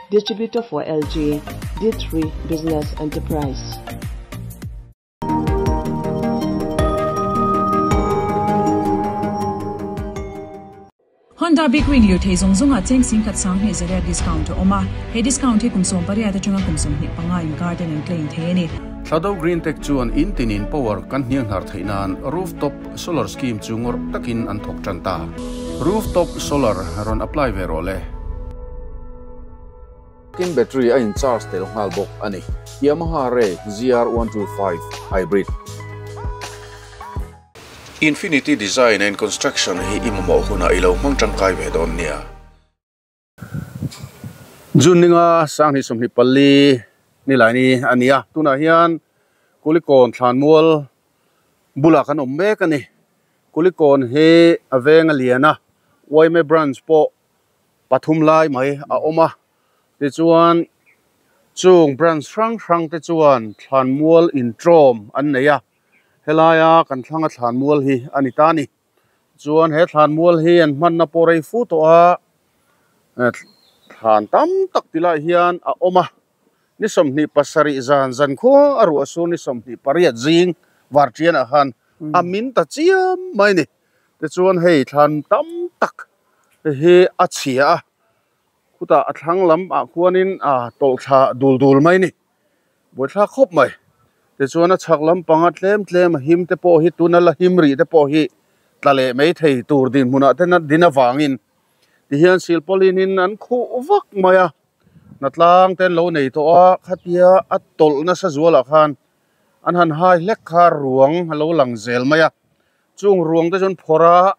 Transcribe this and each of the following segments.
Distributor for LG, D3 Business Enterprise. Honda Big Wing lirthei zawng zawngah cheng singkhat sanghnih zariat discount a awm a, he discount hi kum 18 atanga kum 25 inkar ten an claim thei a ni. Thado Green Tech chuan in tinin power kan hnianghnar theih nan rooftop solar scheme chu ngawrh takin an thawk tan ta. Rooftop solar rawn apply ve rawh le. Tin battery a in charge tel nghal bawk a ni. Yamaha Ray ZR 125 Hybrid. Infinity Design and Construction hi i mamawh hunah i lo hmang tangkai ve dawn nia. June ninga 2024 nilaini a ni a, tunah hian Kulikawn thlanmual bulah kan awm mek a ni. Kulikawn hi a veng a lian a, YMA branch pawh pathum lai mai a awm a, tichuan chung branch hrang hrang te chuan thlanmual intrawm an nei a. Helaia kan thlanga thlanmual hi a ni ta a ni. Chuan he thlanmual hi an hmanna pawh rei fu tawh a, thlan tam tak ti lai hian a awm a. Ni 27 zan zan khua a ruah sur ni 28 zing varṭianah khan a min ta chiam mai a ni. Tichuan hei thlan tam tak hi a chhia a, khutah a thlang lamah khuanin a tawlh thla dul dul mai a ni. Buaithlak khawp mai. Tichuan a chhak lampanga tlem tlem a him te pawh hi tuna la him rih te pawh hi tla leh mai thei tur dinhmunah te din avangin tihian silpauline in an khuh vak mai a. Hnatlang te an lo nei tawh a, khatia a tawlh nasa zualah khan an han hai hlek kha ruang a lo lang zel mai a. Chung ruang te chu an phawrh a,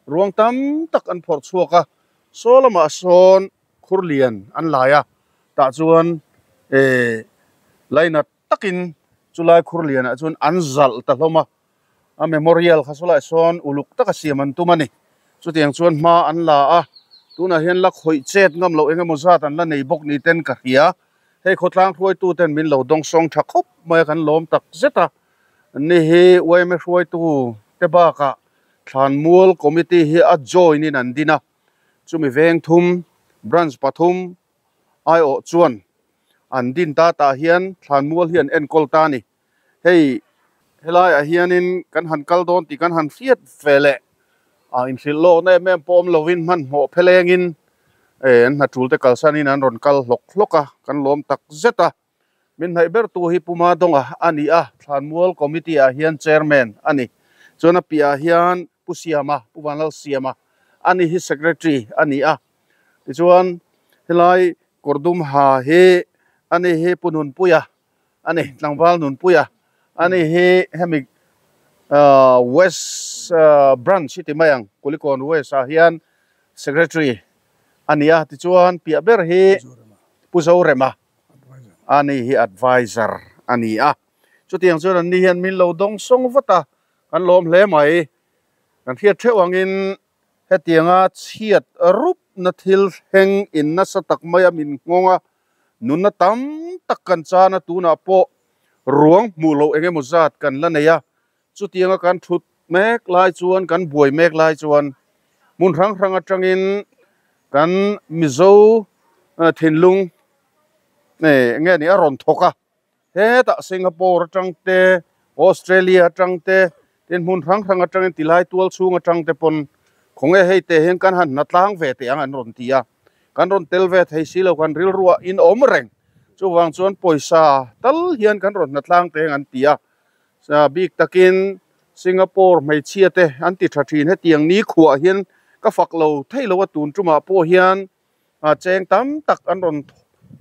ruang tam tak an phawrh chhuak a, saw lamah sawn khur lian an lai a. Tah chuan eh lainat takin chulai khur lianah chuan an zalh ta hlawm a, a memorial kha sawlaiah sawn uluk taka siam an tum a ni. Chutiang chuan hma an la a, tunah hian la khawih chet ngam loh eng emaw zat an la nei bawk ni ten ka hria. Hei khawtlang hruaitu ten min lo dawng sawng tha khawp mai a, kan lawm tak zet a. Ni hi yma hruaitu te bakah Thlanmual Committee hi a join in an din a, chumi veng thum branch pathum aiawh chuan an din ta tah hian thlanmual hi an enkawl ta a ni. Hei helaiah hianin kan han kal dawn tih kan han hriat ve leh a inhrilh lawkna em em pawh awm lovin hmanhmawh phelengin eh an hna tul te kalsanin an rawn kal hlawk hlawk a, kan lawm tak zet a. Min hnaih ber tu hi Puma Dawnga a ni a, Thlanmual Committee ah hian Chairman a ni. Chuan a piahah hian Pu Siama, Pu Vanlal Siama a ni hi Secretary a ni a. Tichuan helai kawr dum ha hi a ni hi Pu Nunpuia a ni, Tlangval Nunpuia a ni hi hemi West Branch hi ti mai ang, Kulikawn West ah hian Secretary a ni a. Tichuan piah ber hi Pu Zorema a ni hi Advisor a ni a. Chutiang chuan an ni hian min lo dawng sawng vat a, kan lawm hle mai. Kan hriat theuh angin Hetianga chhiat rupna thil thleng in nasa tak maia min nghawng a, nunna tam tak kan chan a, tunah pawh ruang hmuh loh eng emaw zat kan la nei a, chutianga kan thut mek lai chuan, kan buai mek lai chuan hmun hrang hrang atangin kan Mizo thinlung nge ni a rawn thawk a. Hetah Singapore atang te, Australia atang te, tin hmun hrang hrang atangin tilai tual chhung atang te pawn khawnge hei te hian kan han hna tlang ve teh ang an rawn ti a. Kan rawn tel ve thei si lo kan rilruah in awm reng. Chuvang chuan pawisa tal hian kan rawn hna tlang teh ang an ti a. Bik takin Singapore hmeichhia te an ti tha thin hetiang ni khuah hian ka fak lo thei lo a tun tumah pawh hian a cheng tam tak an rawn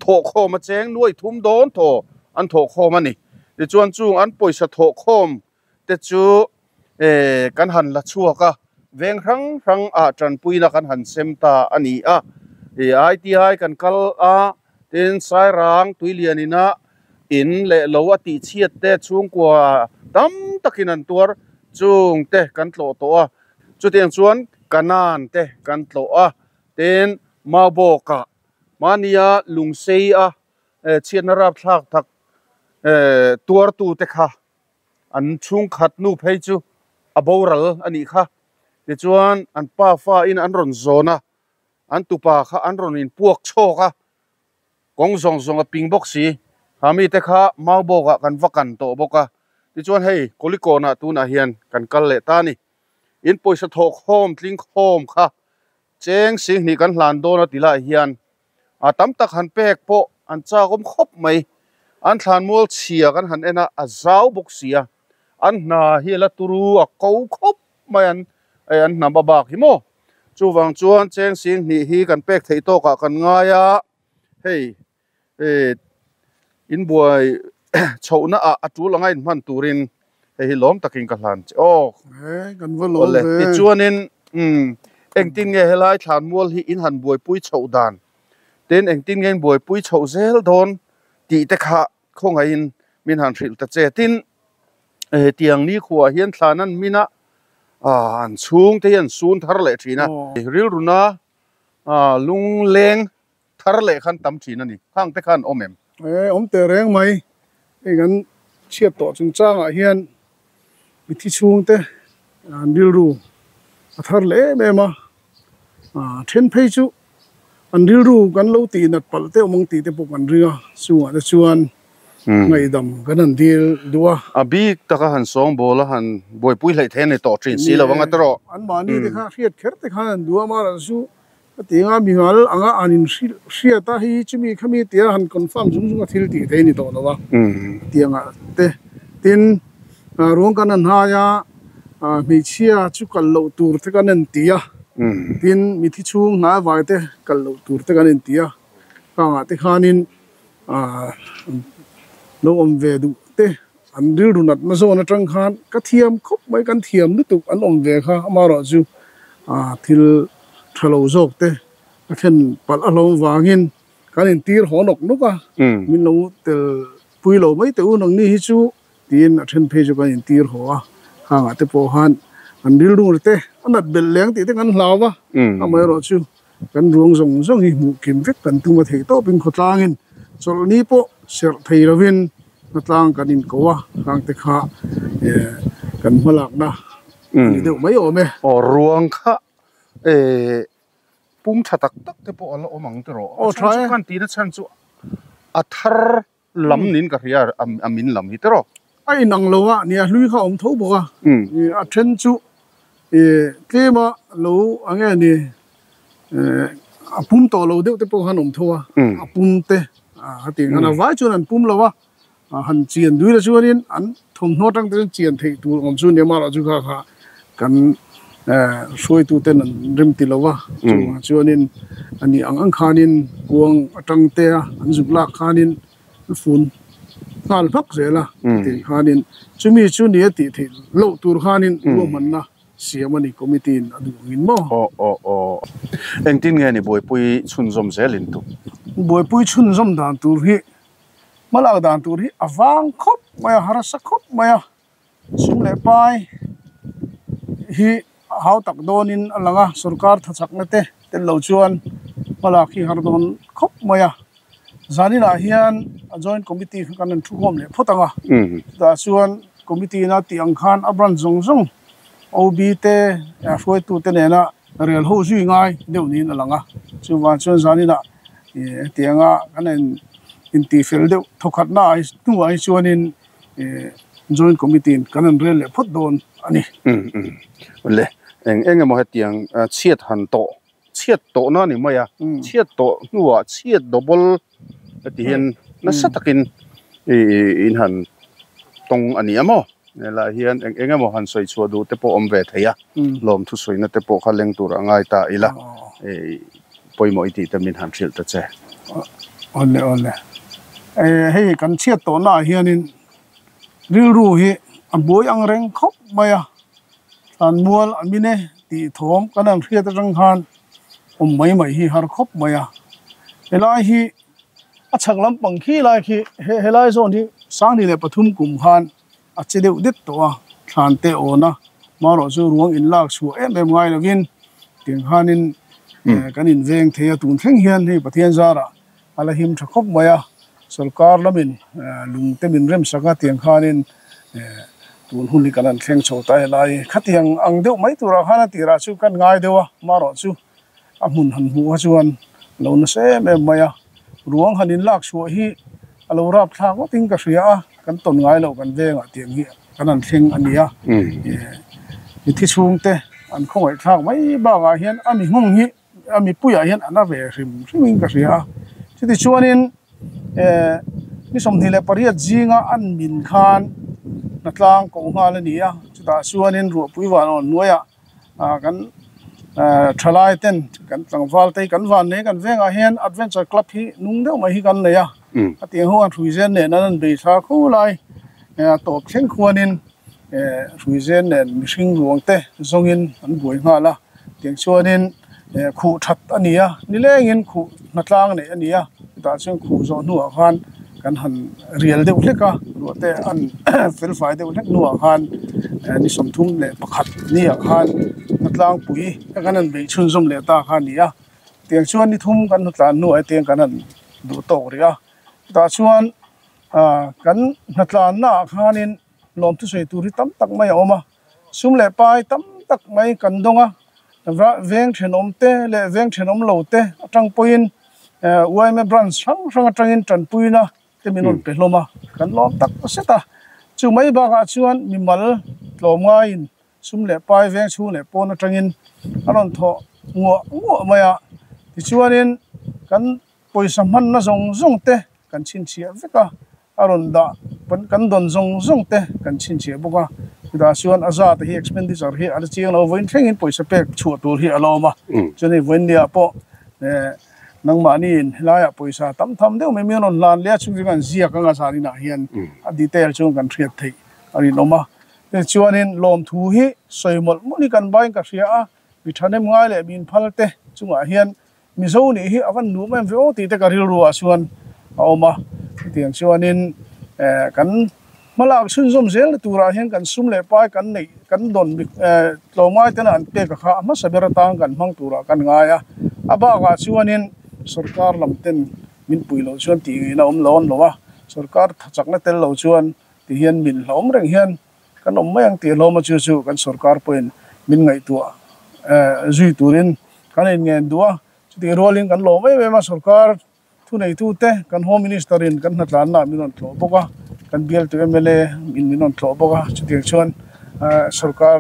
thawh khawm a cheng nuai thum dawn thaw an thawh khawm a ni tichuan chung an pawisa thawh khawm te chu eh kan han la chhuak a veng hrang hrang ah tanpuina kan han sem ta a ni a ih I_T_I kan kal a tin Sairang Tuilian ina in leh lo a tih chhiat te chhungkua tam takin an tuar chung te kan tlawh tawh a chutiang chuan Kanan te kan tlawh a. Tin, Maubawkah mahnia lungsei a chhiatna rapthlak tak tuartute kha an chhungkhat nu phei chu a boral a nih kha. Tichuan, an pa fain an rawn zawn a, an tupa kha an rawn inpuak chhawk a. Kawng zawng zawng a ping bawk si. Ha mite kha Maubawk ah kan va kan tawh bawk a. Tichuan hei Kulikawn ah tunah hian kan kal leh ta a ni. In pawisa thawh khawm tling khawm kha cheng singhnih kan hlan dawn a ti lai hian a tam tak han pek pawh an chak awm khawp mai. An thlanmual chhia kan han en a, a zau bawk si a. An hna hi a la turu a ko khawp mai an an hnam a bak hi maw. Chuvang chuan cheng singhnih hi kan pek theih tawkah kan ngai a, hei eh inbuai chhohna ah a tul anga inhman turin hei hi lawm takin ka hlan che aw. He kan va lawm ve. Tichuanin umm engtin nge helai thlanmual hi in han buaipui chhoh dan tin engtin nge in buaipui chhoh zel dawn tih te kha khawngaihin min han hrilh ta che. Tin hetiang nikhuaah hian thlan an min a ah an chhungte hi an sun thar leh thin a rilruna ah lungleng Thar leh khan tam thin a ni. Khang te khan awm em? E, awm teh reng mai. Hei kan chhiat tawh chungchangah hian mithi chhungte an rilru a thar leh em em a. Then phei chu an rilru kan lo tih nat palh te awm ang tih te pawh kan ring a. Chungah te chuan ngaihdam kan han dil duh a. A bik taka han sawngbawl a han buaipui hleih thei a ni tawh thin si lo ang a tawrh. Anmahni te kha hriat kher te khan an duh a, amaherawhchu Hetianga mimal anga an inhrilh hriat a, hei chumi khami tia han confirm zung zung a thil tih thei a ni tawh lo a, hetianga te. Tin, ruang kan han hai a, hmeichhia chu kal loh tur te kan en ti a, tin, mithi chhung hnai vai te kal loh tur te kan en ti a, khangah te khanin lo awm ve duh te an rilru natna zawn atang khan ka thiam khawp mai, kan thiam lutuk an awm ve kha amaherawhchu thil tha lo zawk te a thlen palh a hlawm vangin kan intir haw nawk nawk a, min lo tel pui lo mai teh u nangni hi chu tiin a then phei chu kan intir haw a, khangah te pawh khan an rilru te a nat belh leng tih te kan hlau va, amaherawhchu kan ruang zawng zawng hi hmuh kim vek kan tum a theih tawpin khawtlangin chawlhni pawh serh thei lovin Hmatlang kan inko a, khang te kha kan hmalakna a ni deuh mai awm e. Aw ruang kha pum tha tak tak te pawh a la awm ang tiraw? Aw tha e. Kan tihna chhan chu a thar lam niin ka hria a min lam hi tiraw? A inang lo a, nia hlui kha a awm tho bawk a, a then chu tlema lo ang nge ni a pum tawh lo deuh te pawh khan awm tho a, a pum te a tih khan a vai chuan an pum lo a, han chian dui la chuanin an thawmhnaw atang te chuan chian theih tur awm chu nia marawh chu kha kha kan hruaitu ten an rem ti lo a, chuvang chuanin a nih ang ang khanin kuang atang te a an zuk lak khanin an fun nghal hmak zel a tih khanin chumi chu nia tih theih loh tur khanin ruahmanna Siam a ni committee in a duh angin maw? Aw aw aw. Engtin nge ni buaipui chhunzawm zel in tu? Buaipui chhunzawm dan tur hi hmalak dan tur hi a vang khawp mai a, harsa khawp mai a, sum leh pai hi a hau tak dawnin a lang a, sorkar thachakna te tel lo chuan hmalak hi har dawn khawp mai a. Zaninah hian a joint committee kha kan rawn thukhawm leh phawt ang a, chutah chuan committee ina tih ang khan a branch zawng zawng OB te hruaitu te nena rel ho zui ngai deuh niin a lang a, chuvang chuan zaninah hetianga kan intihfel deuh thawkhatna hnuah hi chuanin joint committee in kan rawn rel leh phawt dawn a ni. Le eng eng emaw hetiang chhiat han tawh chhiat tawhna a ni mai a, chhiat tawh hnuah chhiat double heti hian nasa takin in han tawng a ni a maw? Helaiah hian eng eng emaw han sawi chhuah duh te pawh awm ve thei a, lawmthu sawina te pawh kha leng tur a ngai ta ila, pawimawh i tih te min han hrilh ta che. Awle awle, hei kan chhiat tawhna ah hianin rilru hi a buai ang reng khawp mai a, Thlanmual a min e tih thawm kan han hriat atang khan awm mai mai hi har khawp mai a. Helai hi a chhak lampang khi lai khi helai zawn hi 2003 kum khan a che deuh det tawh a, thlan te awn a, marawh chu ruang in lak chhuah em em ngai lovin tiang khanin kan inveng thei a, tun thleng hian hei Pathian zarah a la him tha khawp mai a, sorkar lamin lung te min rem sak a tiang khanin tun hun hi kan han thleng chho ta helai khatiang ang deuh mai turah khan a tirah chu kan ngai deuh a, marawh chu a hmun han hmuh kha chuan lo nasa em em mai a, Ruang han in lak chhuah hi a lo rap thlak ngawtin ka hria a, kan tawn ngai loh kan vengah tiang hi kan han thleng a ni a. Mithi chhungte an khawngaih thlak mai bakah hian a mi hmung hi a mipuiah hian an a ve hrim hrimin ka hria a. Chutichuanin ni 28 zinga an min khan hnatlang koh nghal a ni a, chutah chuanin ruahpui van awn hnuaiah kan thalai ten kan tlangval te hi kan van nei kan vengah hian adventure club hi nung deuh mai hi kan nei a a tiang ho an hrui zen nen an an bei thla kho lai tawp thleng khuanin hrui zen nen mihring ruang te zawngin an buai nghal a tiang chuanin khuh that a ni a nilengin khuh hnatlang neih a ni a chutah chuan khuh zawh hnuah khan kan han rial deuh hlek a ruah te an felfai deuh hlek hnuah khan ni 31 ni ah khan hnatlangpui te kan han beih chhunzawm leh ta kha a ni a tiang chuan ni thum kan hnatlan hnuah hetiang kan han duh tawk rih a chutah chuan ah kan hnatlanna ah khanin lawm thusawi tur hi tam tak mai a awm a sum leh pai tam tak mai kan dawng a veng thenawm te leh veng thenawm lo te atang pawhin yma branch hrang hrang atangin tanpuina te min rawn pe hlawm a kan lawm tak zet a chu mai bakah chuan mimal tlawm ngaiin sum leh pai veng chhung leh pawn atangin a rawn thawh nguah nguah mai a tichuanin kan pawisa hmanna zawng zawng te kan chhinchhiah vek a. A rawn dah kan dawn zawng zawng te kan chhinchhiah bawk a, chutah chuan a zat hi expenditure hi a la chiang lo, vawiin thlengin pawisa pek chhuah tur hi a la awm a, chuan vawiin nia pawh nangmahniin helaiah pawisa tam tham deuh mai mai an rawn hlan leh a, chung chu kan ziak anga zan inah hian a detail chuan kan hriat theih a rinawm a, tichuanin lawmthu hi sawi mawlh mawlh hi kan bain ka hria a, mi thahnem ngai leh min phal te chungah hian Mizo nih hi a van nuam em ve aw tih te ka rilru ah chuan a awm a, chutiang chuanin kan hmalak chhunzawm zel na turah hian kan sum leh pai kan neih kan dawn tlawmngai tena an pek a kha a hmasa ber atang kan hmang turah kan ngai a, a bakah chuanin sorkar lam ten min pui loh chuan tih ngaihna awm lo an lo a, sorkar thachakna tel lo chuan ti hian min hlawm reng hian Kan awm mai ang tih hlawm a chu chu kan sorkar pawhin min ngaihtuah zui turin kan inngen duh a, chutih rualin kan lawm em em a, sorkar thuneitute kan Home Minister in kan hnatlanna min rawn tlawh bawk a, kan bialtu mla in min rawn tlawh bawk a, chutiang chuan sorkar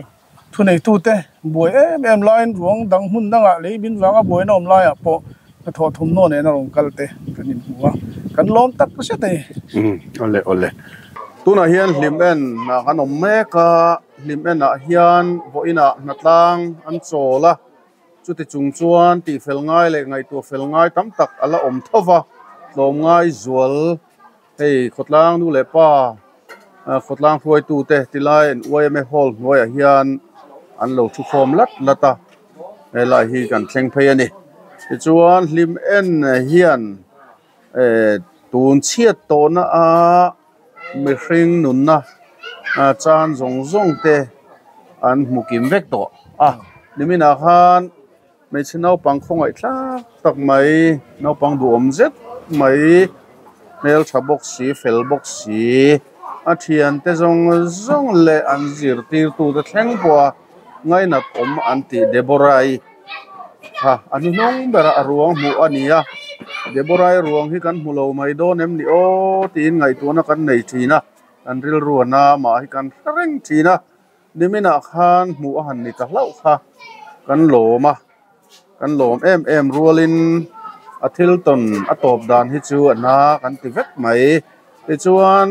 thuneitute buai em em laiin ruang dang hmun dangah lei min vanga buaina awm laiah pawh hnathawh thawmhnaw nena rawn kal te kan inhmu a, kan lawm tak zet a ni. Awle awle. Tunah hian hlim en ah kan awm mek a, hlim en ah hian vawiinah hnatlang an chawl a, chuti chung chuan tihfel ngai leh ngaihtuah fel ngai tam tak a la awm tho va, tlawmngai zual hei khawtlang nu leh pa khawtlang hruaitute tilai an yma hall hnuaiah hian an lo thu khawm lat lat a, helai hi kan thleng phei a ni. Tichuan hlim en hian. Tun chhiat tawhna a mihring nunna chan zawng zawng te an hmu kim vek tawh a niminah khan hmeichhe naupang khawngaih thlak tak mai naupang duhawm zet mai hmeltha bawk si fel bawk si a thiante zawng zawng leh an zirtirtute thleng pawha ngainat awm an tih Deborah-i. Kha a hnuhnawng berah a ruang hmuh a ni a, Deborah-i ruang hi kan hmu lo mai dawn em ni aw tiin ngaihtuahna kan nei thin a, kan rilru a na mah hi kan hre reng thin a, niminah khan hmuh a han ni ta hlauh kha kan lawm a, kan lawm em em rualin a thil tawn a tawp dan hi chu a na kan ti vek mai tichuan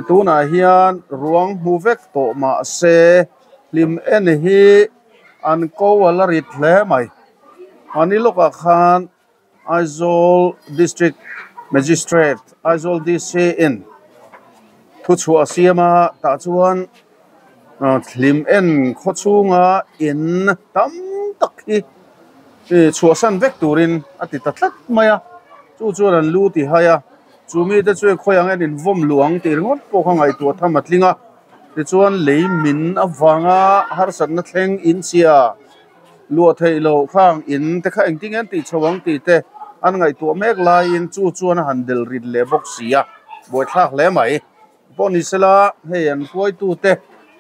tunah hian ruang hmu vek tawh mahse hlim en hi. An ko a la rit hle mai. Mahni lawkah khan Aizawl District Magistrate, Aizawl DC in thuchhuah a siam a, tah chuan hlim en khaw chhunga in tam tak hi chhuahsan vek turin a ti ta tlat mai a, chu chuan an lu ti hai a, chu mite chu khawi ang en invawm luh ang tih ringawt pawh kha ngaihtuah tham a tling a. Tichuan lei min avanga harsatna thleng in chhia luah theih loh khang in te kha engtin nge an tih chho ang tih te an ngaihtuah mek laiin chu chuan a han del rit leh bawk si a, buaithlak hle mai. Pawh ni sela hei an hruaitu te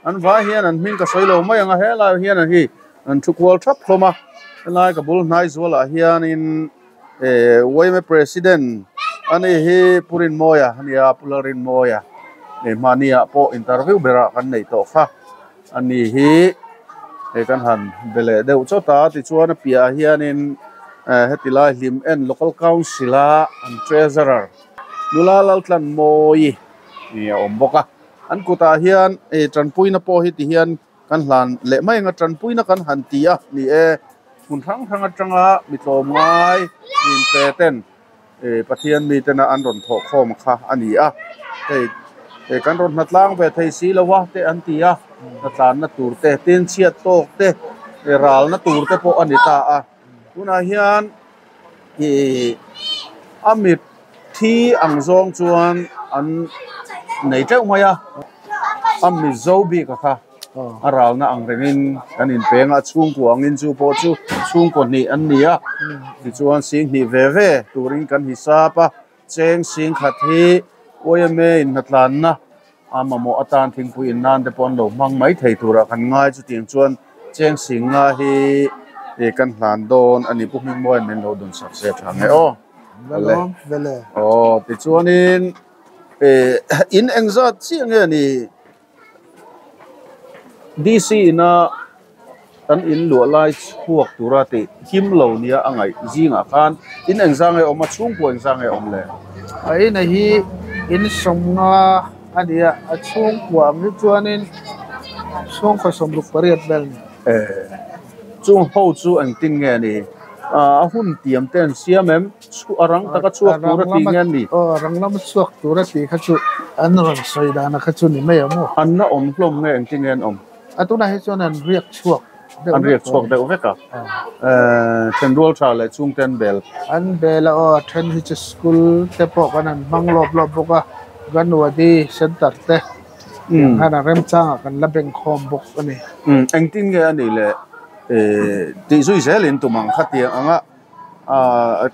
an vai hian an hming ka sawi lo mai ang a, helai hian an hi an thu kual thap hlawm a, helai ka bul hnai zualah hianin. Yma President ani hi Pu Rinmawia a nia, Pu Lalrinmawia hei hmahniah pawh interview berah kan neih tawh kha ani hi hei kan han be leh deuh chawt a tichuan a piahah hianin heti lai hlim en local council a an treasurer nula Laltlanmawii a awm bawk a an kutah hian tanpuina pawh hi ti hian. Kan hlan leh mai anga tanpuina kan han ti a ni e, hmun hrang hrang atanga mi tlawmngai inpe ten Pathian mitena an rawn thawh khawm kha a ni a, hei kan rawn hnatlang ve thei si lo a te an ti a, hnatlanna tur te, tin chhiat tawk te, ralna tur te pawh a ni ta a, tunah hian ih a mit thi ang zawng chuan an nei teuh mai a a mizo bik a kha a ralna ang rengin kan inpeng a chhungkua angin chu pawh chu chhungkaw hnih an ni a tichuan sing hnih ve ve turin kan hisap a cheng sing khat hi yma inhnatlanna a mamawh atan thingpui in nan te pawh an lo hmang mai thei turah kan ngai chutiang chuan cheng sing nga hi ih kan hlan dawn a ni pu Hmingmawia'n min lo dun sak se tha nge aw ale aw tichuanin ih in engzat chiah nge ni DC ina kan in luah lai chhuak tura tih him lo nia a ngaih zingah khan in engzang nge awm a chhungkua engzang nge awm le? A ina hi in sawmnga a ni a, a chhungkua ang hi chuanin chhungkaw 68 vel a ni. E, chung ho chu engtin nge ni? A hun tiam te an siam em? A rang taka chhuak tura tih nge an ni? Aw, rang lama chhuak tura tih kha chu an rawn sawi dana kha chu ni mai ang maw? An la awm hlawm nge engtin nge an awm? A tunah hi chuan an riak chhuak deuh An riak chhuak deuh vek a. Thenrual tha leh chhungte an bel. An bel a aw, a then hi chu school te pawh kan han hmang lawp lawp bawk a, Ganwadi center te tiang khan a remchangah kan la beng khawm bawk a ni. Engtin nge a nih le tih zui zelin tum ang kha tiang anga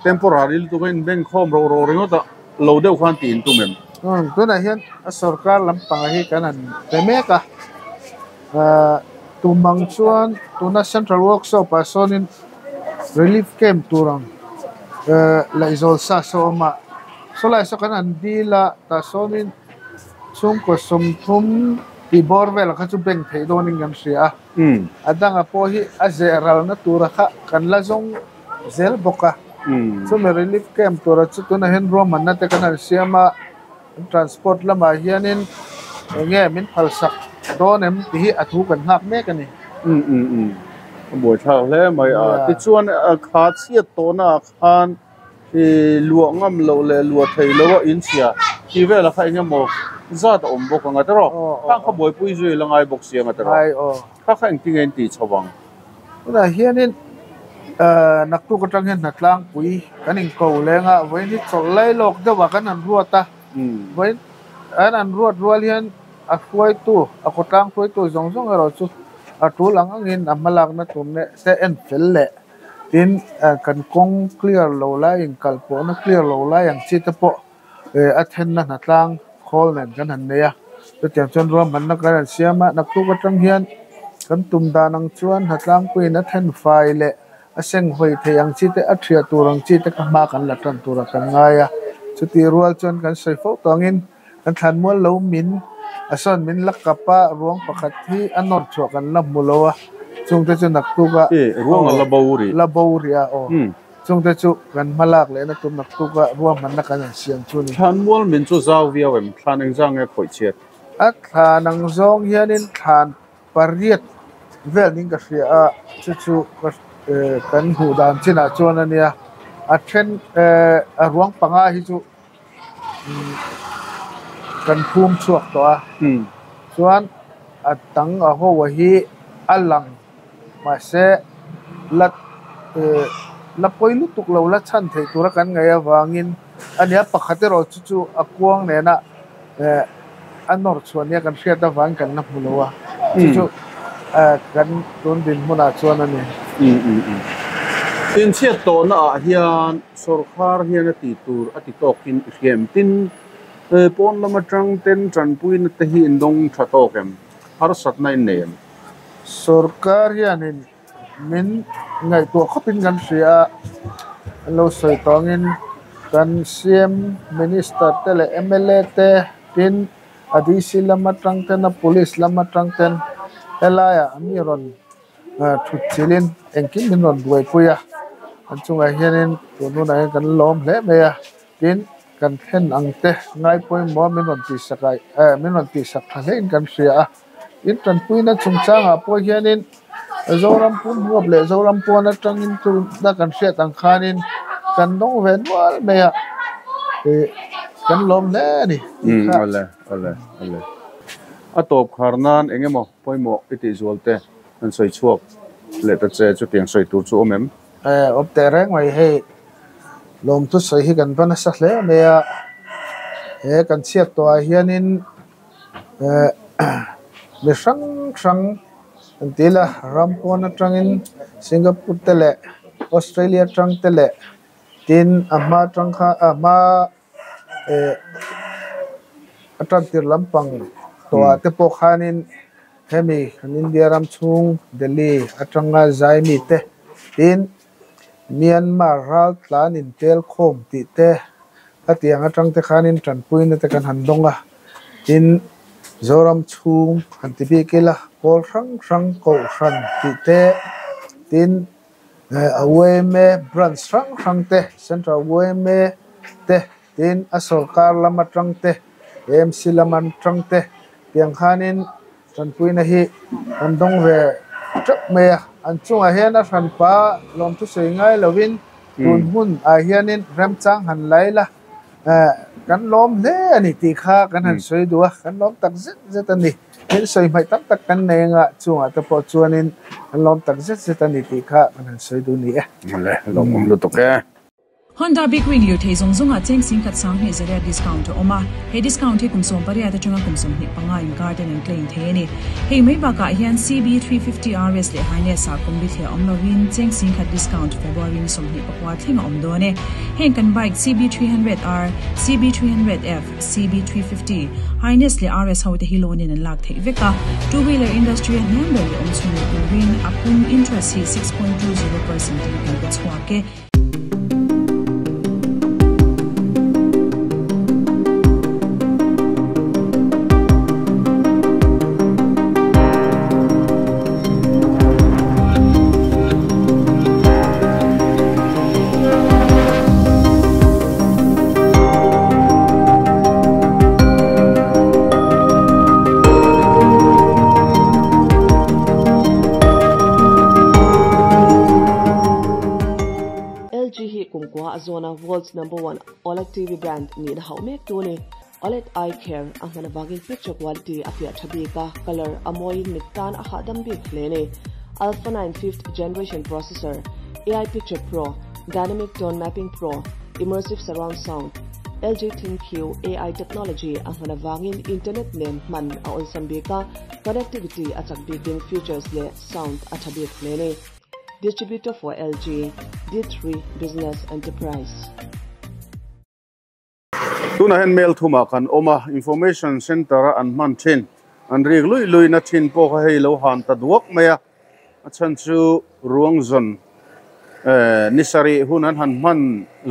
temporary lutuk a inbeng khawm ro ro ringawt a lo deuh khan tih in tum em? Tunah hian a sorkar lampang hi kan han pe mek a, tum ang chuan tuna central workshop ah sawnin relief camp tur ang laihzawl sa saw a awm a, sawlai saw kan han dil a tah sawnin chhungkaw 30 tih bawr velah kha chu bank theih dawnin kan hria a. A danga pawh hi a zeh ralna tura kha kan la zawng zel bawk a. Chumi relief camp tura chu tunah hian ruahmanna te kan han siam a, transport lamah hianin eng nge min phalsak dawn em tih hi a thu kan nghak mek a ni. A buaithlak hle mai a. Tichuan kha chhiat tawhnaah khan I luah ngam loh leh luah theih loh a inchhia tih velah kha eng emaw zat a awm bawk ang a tiraw? Khang kha buaipui zui la ngai bawk si ang a tiraw? Kha kha engtin nge in tih chho ang? Tunah hianin naktuk atang hian hnatlangpui kan inko leng a, vawiin hi chawlh lai lawk deuhah kan han ruat a, vawiin an han ruat rual hian a hruaitu, a khawtlang hruaitu zawng zawng erawh chu a tul ang angin a hmalakna tur te en fel leh. Tin, kan kawng clear lo lai inkal pawhna clear lo lai ang chi te pawh a thenna hnatlang khawl nen kan han nei a. Chutiang chuan ruahmanna kan han siam a, naktuk atang hian kan tum dan ang chuan hnatlangpuiin a then fai leh a senghawi thei ang chi te, a thiah tur ang chi te kha hma kan la tan turah kan ngai a. Chutih rual chuan kan sawi fo tawngin kan thlanmual lo min a sawn min la kap a, ruang pakhat hi a nawr chhuah kan la hmu lo a, chungte chu naktuk a Ruang a la bo rih. La bo rih a aw. Chungte chu kan hma lak lehna tur naktuk a ruahmanna kan han siam chu ni. Thlanmual min chu zau viau em? Thlan engzah nge khawih chhiat? A thlan ang zawng hianin thlan pariat vel ning ka hria a, chu chu kan hmuh dan chinah chuan a nia. A then a ruang panga hi chu kan phum chhuak tawh a chuan a tang a ho a hi a lang mahse la eh la pawi lutuk lo la chhan theih tura kan ngaih avangin a nia pakhat erawh chu chu a kuang nena eh a nawr chhuah nia kan hriat avangin kan la hmu lo a chu chu eh kan tun dinhmunah chuan a ni. Inchhiat tawhna ah hian Sawrkhar hian a tih tur a ti tawkin i hria em? Tin, pawn lam atang ten tanpuina te hi in dawng tha tawk em? Harsatna in nei em? Sawrkar hianin min ngaihtuah khawpin kan hria a, An lo sawi tawngin kan CM, Minister te leh mla te tin a DC lam atang ten a police lam atang ten helaiah mi rawn thut chilhin engkim min rawn buaipui a an chungah hianin tun hunah hian kan lawm hle mai a tin kan thlen ang te ngai pawimawh a min rawn tihsak ah eh min rawn tihsak tha hlein kan hria a in tanpuina chungchangah pawh hianin Zoram pum huap leh Zoram pawn atangin tuna kan hriat ang khanin kan dawng ve nual mai a ih kan lawm hle a ni tih kha. Awle awle awle a tawp khar nan eng emaw pawimawh i tih zual te an sawi chhuak leh ta che chutiang sawi tur chu awm em? Awm teh reng mai hei lawmthu sawi hi kan va nasa hle mai a he kan chhiat tawh ah hianin mi hrang hrang an ti ila ram pawn atangin Singapore te leh Australia atang te leh tin a hma atang kha a hma eh a tan tir lampang tawh ah te pawh khanin hemi kan India ram chhung Delhi atanga zai mi te tin Myanmar ral tlan in tel khawm tih te a tiang atang te khanin tanpuina te kan han dawng a, tin Zoram chhung han ti bik ila pawl hrang hrang kohhran tih te tin a yma branch hrang hrang te Central yma te tin a sorkar lam atang te AMC lam atang te tiang khanin Tanpuina hi an dawng ve teuh mai a, an chungah hian a hranpa lawmthu sawi ngai lovin tun hmun ah hianin remchang han la ila kan lawm hle a ni tih kha kan han sawi duh a, kan lawm tak zet zet a ni. Thil sawi hmaih tam tak kan nei anga chungah te pawh chuanin kan lawm tak zet zet a ni tih kha kan han sawi duh ni e. Awle, lawmawm lutuk e. Honda Big Wing lirthei zawng zawngah cheng singkhat sanghnih zariat discount a awm a, he discount hi kum 18 atanga kum 25 inkar ten an claim thei a ni. Hei mai bakah hian CB350 RS leh Highness ah kum bithliah awm lovin cheng singkhat discount February ni 24 thleng a awm dawn e. Heng kan bike CB300R, CB300F, CB350, Highness leh RS ho te hi loan in an lak theih vek a, two wheeler industry a hniam ber leh awm chhun leh turin a pum interest hi 6.20% in kan pe chhuak e. LG hi kumkua a zawna world's number one OLED TV brand nihna hauh mek tu a ni. OLED eye care a hman avangin picture quality a fiah tha bik a, colour a mawiin mit tan a hahdam bik hle a ni. Alpha 9 fifth generation processor, AI Picture Pro, Dynamic Tone Mapping Pro, Immersive Surround Sound, LG ThinQ AI technology a hman avangin internet nen hman a awlsam bik a, connectivity a chak bikin features leh sound a tha bik hle a ni. Distributor for LG, D3 Business Enterprise. Tunah hian mail thumah kan awm a, Information Centre a an hman thin, an rik luih luihna thin pawh kha hei lo han ta duak mai a, a chhan chu ruang zawn eh ni sarih hun an han hman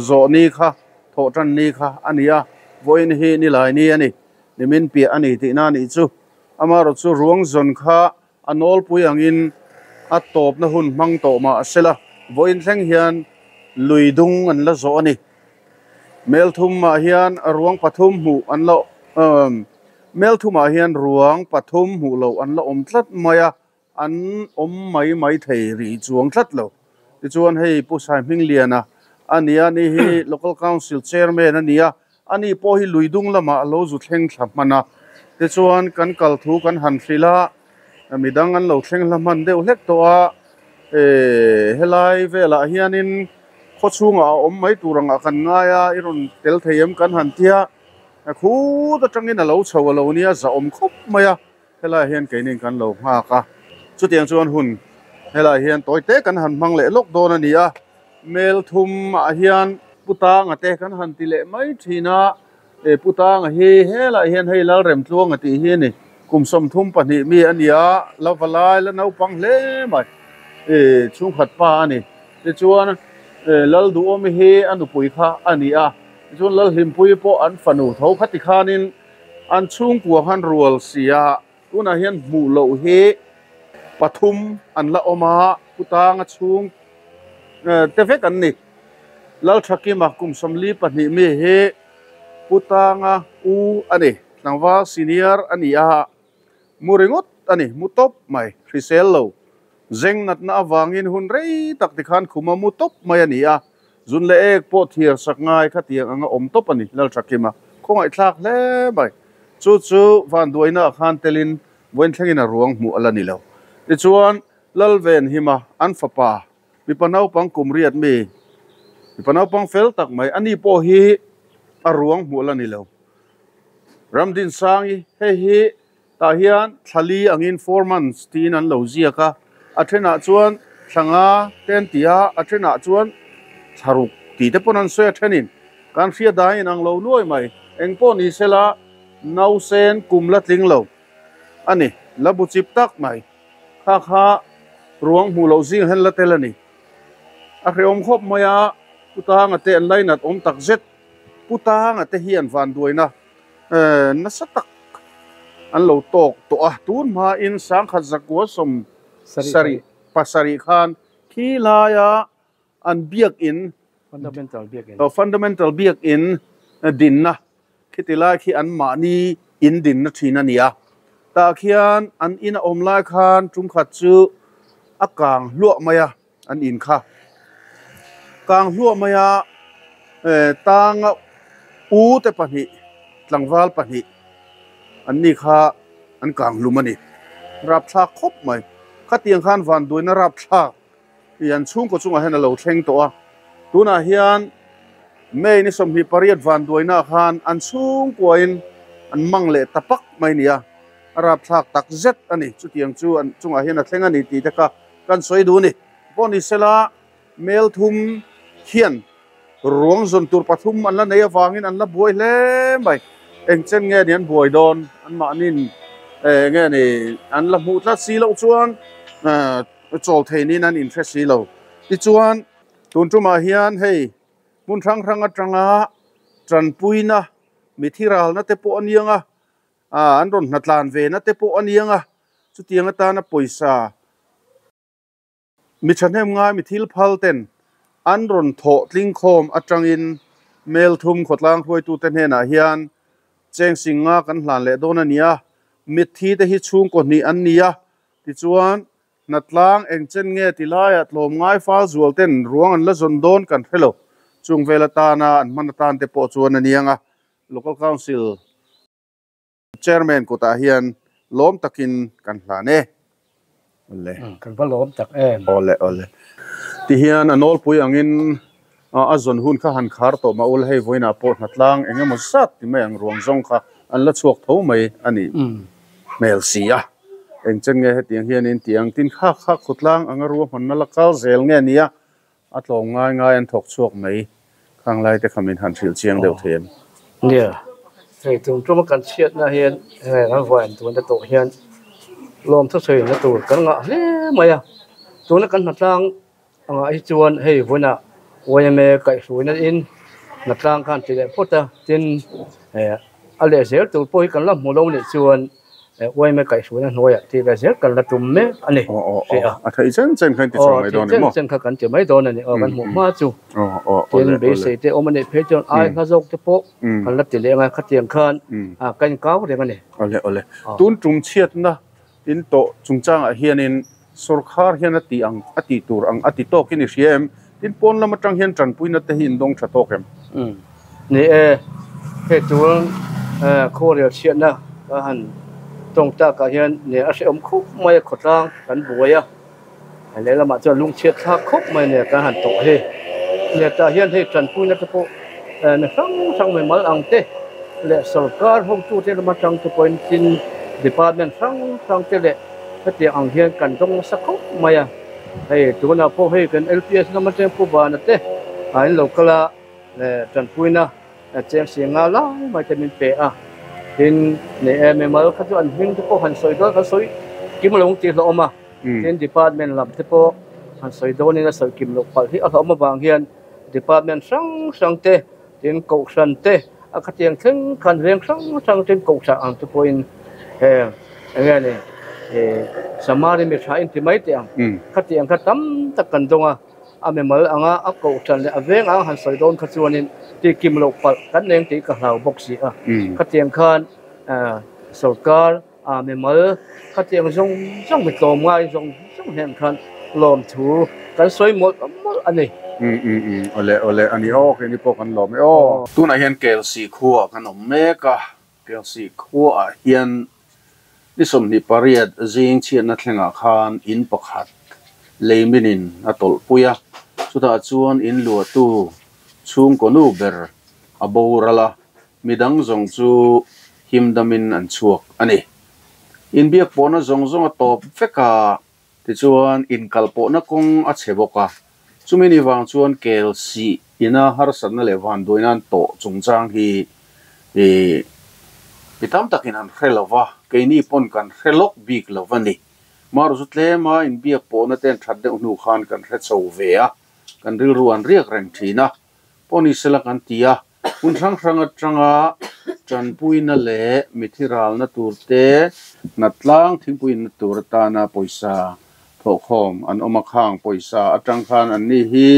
zawh ni kha thawh tan ni kha a ni a, vawiin hi ni lai ni a ni, nimin piah a ni tihna a nih chu. Amaherawh chu ruang zawn kha A nawlpui angin a tawpna hun hmang tawh mah a sela, vawiin thleng hian lui dung an la zawh a ni. Mel thumah hian ruang pathum hmuh an la Mel thumah hian ruang pathum hmuh loh an la awm tlat mai a, an awm mai mai thei rih chuang tlat lo. Tichuan hei Pu Saihmingliana a ni a, ni hi Local Council Chairman a ni a, Ani pawh hi lui dung lamah a lo zu thleng thla hman a, tichuan kan kal thu kan han hrilh a, midang an lo thleng hla hman deuh hlek tawh a, eh helai velah hianin khaw chhungah a awm mai tur angah kan ngai a, i rawn tel thei em kan han tia, khut atangin a lo chho a lo nia zahawm khawp mai a, helaiah hian keinin kan lo nghak a, chutiang chuan hun helaiah hian tawi te kan han hmang leh lawk dawn a ni a. Mel thum ah hian Pu Tanga te kan han ti leh mai thin a, e Pu Tanga hi helaiah hian hei Lalremtluanga tih hi a ni, kum 32 mi a ni a, la va lai la naupang hle mai, e chhungkhat pa a ni. Tichuan Lalduhawmi hi a nupui kha a ni a, tichuan Lalhlimpuii pawh an fanu tho kha tikhanin an chhungkua khan rual si a, tunah hian hmuh loh hi pathum an la awm a, Putanga chhung te vek an ni. Lalthakima kum 42 mi hi Putanga u a ni, tlangval senior a ni a, mu ringawt a ni, mu tawp mai, hrisel lo. Zeng natna avangin hun rei tak tikhan khuma mu tawp mai a ni a, zun leh ek pawh thiar sak ngai khatiang anga awm tawp a ni, Lalthakima khawngaihthlak hle mai. Chu chu vanduaina ah khan telin vawiin thlengin a ruang hmuh a la ni lo. Tichuan, Lalvenhima an fapa mipa naupang kum riat mi, mipa naupang fel tak mai, ani pawh hi a ruang hmuh a la ni lo. Ramdinsangi, hei hi Tah hian thla li angin four months tiin an lo ziak a, a thenah chuan thla nga te an ti a, a thenah chuan thla ruk tih te pawn an sawi a thenin kan hriat dan in ang lo nuai mai. Eng pawh ni sela nausen kum la tling lo a ni, la bu chip tak mai. Kha kha ruang hmuh loh zing hian la tel a ni. A hrehawm khawp mai a, Pu Tanga te an lainat awm tak zet. Pu Tanga te hian vanduaina nasa tak an lo tawk tawh a, tun hmain sangkhat zakua sawm sarih pasarih khan khi laia an biakin fundamental biakin dinna khiti lai khi an mahni in dinna thin a ni a, tah khian an in a awm lai khan tumkhat chu a kang hluah mai a, an in kha kang hluah mai a tanga u te pahnih tlangval pahnih an ni kha an kang hlum a ni rapthlak khawp mai khatiang khan vanduaina rapthlak tih an chhungkaw chungah hian a lo thleng tawh a tunah hian May ni 28 vanduaina khan an chhungkuain an mang leh ta pak mai a ni a a rapthlak tak zet a ni chutiang chu an chungah hian a thleng a ni tih te kha Kan sawi duh a ni. Pawh ni sela, mel thum hian ruang zawn tur pathum an la nei avangin an la buai hle mai. Eng chen nge ni an buai dawn? Anmahniin nge ni an la hmuh tlat si loh chuan chawl thei niin an inhre si lo. Tichuan, tun tumah hian hei hmun hrang hrang atanga tanpuina mithi ralna te pawh a niang a, an rawn hnatlan ve na te pawh a niang a, chutiang atana pawisa mi thahnem ngai mi thil phal ten an rawn thawh tling khawm atangin mel thum khawtlang hruaitute hnenah hian cheng sing nga kan hlan leh dawn a ni a, mitthi te hi chhungkaw hnih an ni a, tichuan hnatlang eng chen nge ti laiah tlawm ngai fal zual ten ruang an la zawn dawn kan hre lo, chung vel atana an hman atan te pawh chuan a niang a. Local Council Chairman kutah hian lawm takin kan hlan e. Awle. Kan va lawm tak em. Awle awle. Tihian a nawlpui angin a zawn hun kha han khar tawh mah ula hei vawiinah pawh hnatlang eng emaw zat ti mai ang ruang zawng kha an la chhuak tho mai a nih hmel si a. Eng chen nge hetiang hianin tiang tin kha kha khawtlang anga ruahmanna la kal zel nge nia A tlawm ngai ngai an thawk chhuak mai. Khang lai te kha min han hrilh chiang deuh thei em? Nia, hei tum tuma kan chhiatna hian hei kan vawiin tuna tawh hian lawm thusawiina tur kan ngah hle mai a. Tuna kan hnatlang angah hi chuan hei vawiinah YMA kaihhruaina in hnatlang khan ti leh phawt a, tin a leh zel tur pawh hi kan la hmu lo nih chuan YMA kaihhruaina hnuaiah tih ve zel kan la tum mek a ni. Aw aw a theih chen chen kha in ti chhuak mai dawn em maw? Chen chen kha kan ti mai dawn a ni. Aw kan hmuh hma chu. Tin beisei te awm a nih phei chuan ai hla zawk te pawh kan la ti leh ang a, khatiang khan ka inkau reng a ni. Awle awle. Tun tum chhiatna in tawh chungchangah hianin sawrkhar hian a tih ang a tih tur ang a ti tawkin i hria em? Tin pawn lam atang hian tanpuina te hi in dawng tha tawk em? Ni e, hei tun khuarel chhiatna ka han tawng takah hian ni a hrehawm khawp mai a, khawtlang kan buai a, lehlamah chuan lungchhiat thlak khawp mai nia kan han tawh hi. Nia tah hian hei tanpuina te pawh mi hrang hrang mai mal ang te leh sorkar hotute lam atang te pawhin tin department hrang hrang te leh hetiang ang hian kan dawng nasa khawp mai a. Hei tunah pawh hei kan LPS lam atang Pu Bana te a in lo kal a tanpuina cheng si nga lai mai te min pe a tin nei em em al kha chu an hming te pawh han sawi dawn kan sawi kim lo ang tih hlawh awm a tin department lam te pawh Han sawi dawnin a sawi kim loh palh hi a hlauhawm avang hian department hrang hrang te, tin kohhran te a khatiang thleng khan veng hrang hrang ten kohhran ang te pawhin heng eng nge ni Samari mi tha in ti mai teh ang khatiang kha tam tak kan dawng a, a mimal anga a kohhran leh a veng ang han sawi dawn kha chuanin tih kim loh palh kan neng tih ka hlau bawk si a, khatiang khan sorkar A mimal khatiang zawng zawng mi tlawm ngai zawng zawng hian khan lawmthu kan sawi mawlh mawlh a ni. Umm umm umm awle awle a ni aw keini pawh kan lawm e aw. Tunah hian Kelsih khuaah kan awm mek a, Kelsih khuaah hian ni 28 zing chhiatna thlengah khan in pakhat lei minin a tawlhpui a, chutah chuan in luahtu chhungkaw nu ber a boral a, Midang zawng chu himdamin an chhuak a ni. Inbiak pawhna zawng zawng a tawp vek a, tichuan inkal pawhna kawng a chhe bawk a. Chumi ni vang chuan kel sih ina harsatna leh vanduaina an tawh chungchang hi mi tam takin an hre lo va, keini pawn kan hre lawk bik lo va ni. Maru chu tlema inbiak pawhna te an that deuh hnu khan kan hre chho ve a, kan rilru an riak reng thin a. Pawh ni sela kan ti a, hmun hrang hrang atanga tanpuina leh mithi ralna tur te, hnatlang thingpuiinna tur atana pawisa thawhkhawm an awm a, khang pawisa atang khan anni hi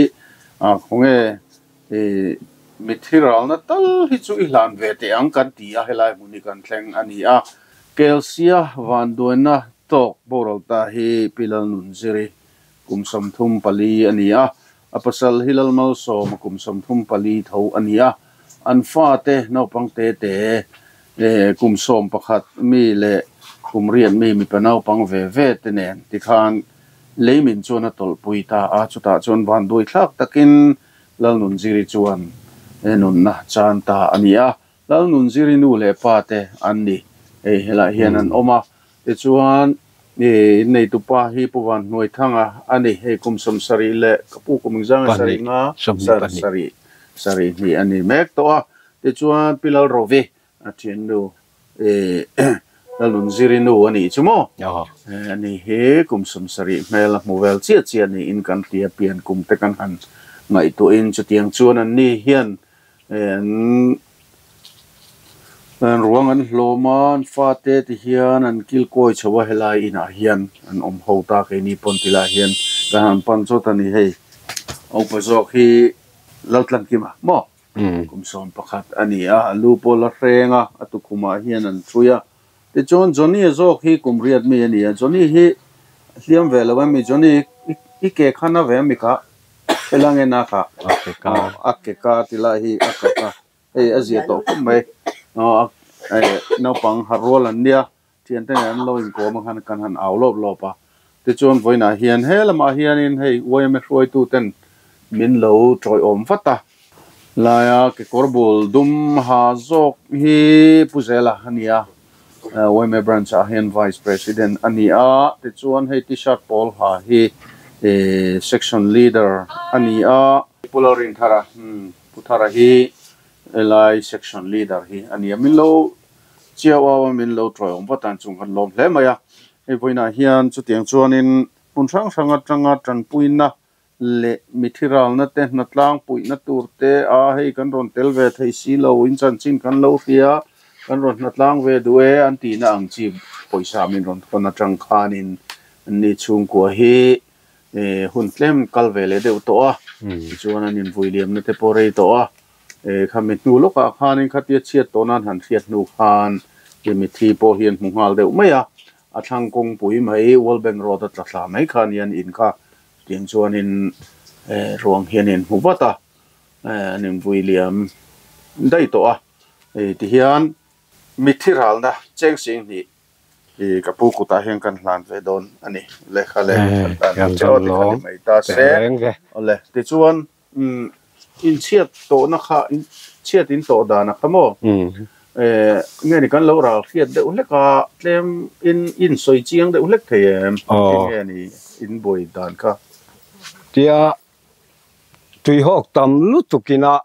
khawnge mithi ralna tal hi chu i hlan ve teh ang kan ti a, helai hmun hi kan thleng a ni a. Kelsia vanduaina tawk boral ta hi Pi Lalnunziri kum 34 a ni a, A pasal hi Lalmalsawma kum 34 tho a ni a, an fate naupang te te kum 11 mi leh kum 8 mi mipa naupang ve ve te nen tikhan leimin chuan a tawlhpui ta a, chutah chuan vanduai thlak takin Lalnunziri chuan nunna chan ta a ni a, Lalnunziri nu leh pa te an ni. Hei helai hian an awm a, tichuan inneitu pa hi Pu Vanhnuaithanga a ni. Hei kum 70 leh ka pu kum engzang nge sarih nga sarih sarih hnih a ni mek tawh a. Tichuan Pi Lalrovi a thiannu Lalnunziri nu a nih chu maw? Ani hi kum 70 hmel a hmu vel chiah chiah niin kan hria pian kum te kan han ngaihtuahin chutiang chuan anni hian An ruang an hlawm a, an fate ti hian an kil kawi chho a, helai inah hian an awm ho ta keini pawn ti lai hian kan han pan chawt a ni hei. Upa zawk hi Laltlankima maw? Kum 11 a ni a, a lu pawh la hreng a, a tukhumah hian an ṭhui a. Tichuan Johnny-a zawk hi kum 8 mi a ni a, Johnny hi hliam ve lo em mi? Johnny i ke kha na ve em mi kha? Hela nge na kha? A ke ka. A ke ka ti lai hi a ka ka. Hei a zia tawh khawp mai. Naupang harh rual an nia, thiante nen an lo inkawm a khan kan han au lawp lawp a. Tichuan vawiinah hian he lamah hianin hei yma hruaituten min lo tawiawm vat a. Laia kekawr bul dum ha zawk hi Pu Zela a ni a, yma branch ah hian Vice President a ni a, tichuan hei T-shirt pawl ha hi Section Leader a ni a. Pu Lalrinthara, Pu Thara hi helai Section Leader hi a ni a, min lo chiau au a, min lo tawiawm vat a, chung kan lawm hle mai a. Hei vawiinah hian chutiang chuanin hmun hrang hrang atanga tanpuina leh mithi ralna te, hnatlang puihna tur te a hei kan rawn tel ve thei si lo, in chanchin kan lo hria, kan rawn hnatlang ve duh e an tihna ang chi pawisa min rawn thawn atang khanin ni chhungkua hi hun tlem kal ve leh deuh tawh a, tichuan an invui liamna te pawh rei tawh a, khami hnu lawkah khanin khatia chhiat tawh nan han hriat hnu khan mithi pawh hi an hmu nghal deuh mai a, a thlang kawngpui mai World Bank Road a tla thla mai kha nia an in kha. Tiang chuanin ruang hian in hmu vat a, an invui liam daih tawh a. Hei tihian mitthi ralna cheng sing hnih i ka pu kutah hian kan hlan ve dawn a ni. Lehkha leh kan hlan dawn che aw tikha ni mai ta se. Awle tichuan inchhiat tawhna kha chhiat in tawh dan a kha maw? Nge ni kan lo ral hriat deuh hlek a, tlem in in sawi chiang deuh hlek thei em? Nge ni in buai dan kha? Tia tuihawk tam lutuk ina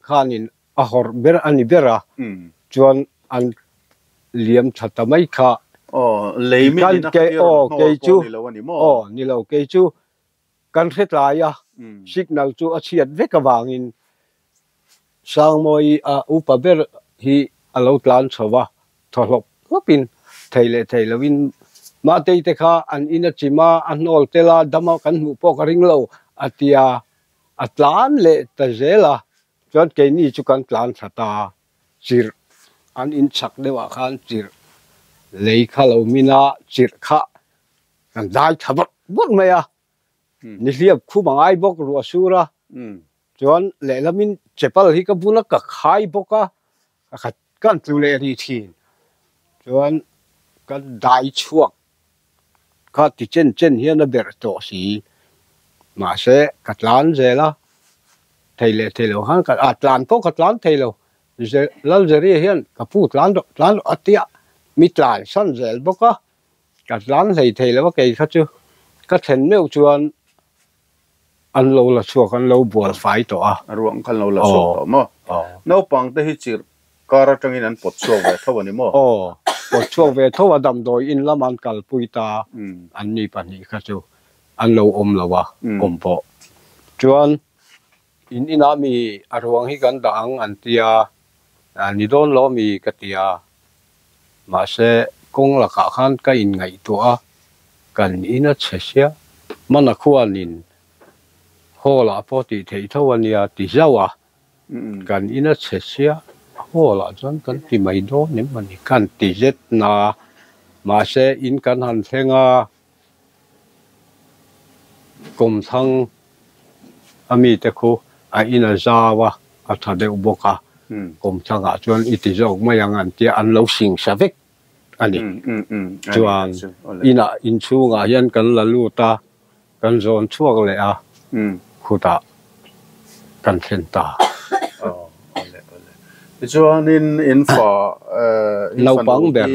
khanin a hawrh ber a ni ber a, chuan an liam tha ta mai kha. Aw, lei min ina kha tir rawn hnawl pawh ni lo a ni maw? Aw, ni lo, kei chu. Kan hre tlai a, signal chu a chhiat vek avangin Sangmawi a upa ber hi a lo tlan chho a, thaw hlawp hlawpin thei leh thei loin Matei te kha an in a chim a, a hnawl tel a, dam a kan hmuh pawh ka ring lo a tia, a tlan leh ta zel a, chuan keini chu kan tlan thla ta chirh an in chhak deuhah khan chirh lei kha lo min a, chirh kha kan dai tha vawrh vawrh mai a, nihliap khum a ngai bawk ruah sur a, chuan lehlamin chapal hi ka bula ka khai bawk a, ka kan tlu leh rih thin, chuan ka dai chhuak kha ti chen chen hian a berh tawh si, mahse ka tlan zel a, thei leh thei lo khan ka ah tlan pawh ka tlan thei lo, Lalzeria hian ka pu tlan rawh tlan rawh a tia mi tlan san zel bawk a. Ka tlan hlei thei lo a kei kha chu ka thlen meuh chuan an lo la chhuak an lo bual fai tawh a. A ruang kha an lo la chhuak tawh maw? Naupang te hi chirh kar atangin an pawt chhuak ve tho a ni maw? Aw, pawt chhuak ve tho a damdawi in lam an kalpui ta an ni pahnih kha chu an lo awm lo a awm pawh. Chuan in inah mi a ruang hi kan dah ang an tia ni dawn lo mi ka tia. Mahse, kawng lakah khan ka inngaihtuah a, kan in a chhe sia, mana khuanin hall ah pawh tih theih tho a nia ti zauh a, kan in a chhe sia, hall ah chuan kan ti mai dawn em a ni, kan ti zet na. Mahse, in kan han thleng a, Kawmthlang a mite khu a in a zau a, a tha deuh bawk a, kawmthlangah chuan i ti zawk mai ang an tia an lo singsa vek a ni. Chuan inah inchhungah hian kan la lut a, kan zawn chhuak leh a, khutah kan thlen ta. Tichuanin in fa in Naupang ber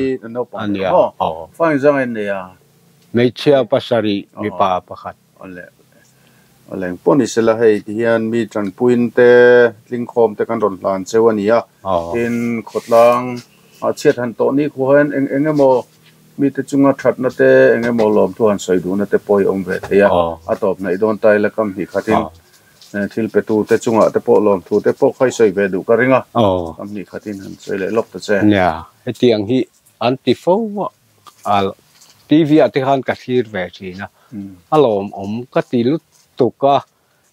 a nia. Fa engzang a in nei a? Hmeichhia pasarih mipa pakhat. Awle awle engpawh ni sela hei ti hian mi tanpuiin te tlingkhawm te kan rawn hlan cheu a ni a. Tin khawtlang ah chhiat han tawh ni khuah hian eng eng emaw mite chunga thatna te eng emaw lawmthu han sawi duhna te pawh hi awm ve thei a. A tawp hnaih dawn ta ila kam hnih khatin thil petu te chungah te pawh lawmthu te pawh kha i sawi ve duh ka ring a. Kam hnih khatin han sawi leh lawk ta che. Nia, hetiang hi an ti fo a. A TV ah te khan ka thlir ve thin a, a lawmawm ka ti lutuk a,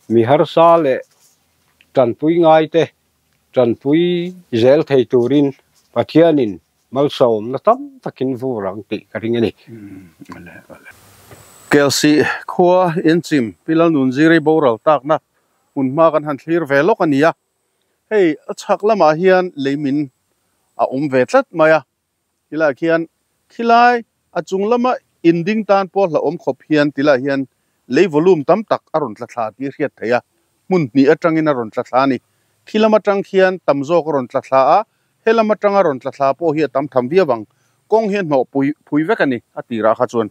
mi harsa leh tanpui ngai te tanpui zel thei turin Pathianin malsawmna tam takin vur ang tih ka ring a ni. Kelsih khua inchim Pi Lalnunziri boral takna hmun hma kan han thlir ve lawk a ni a, hei a chhak lamah hian leimin a awm ve tlat mai a. Tilaiah khian khilai a chung lama inding tan pawh hlauhawm khawp hian tilaiah hian lei volume tam tak a rawn tla thla tih a hriat theih a, hmun hnih atangin a rawn tla thla a ni. Khi lam atang khian tam zawk a rawn tla thla a, he lam atanga rawn tla thla pawh hi a tam tham viau ang. Kawng hi a hnawh pui phui vek a ni a tirah kha chuan.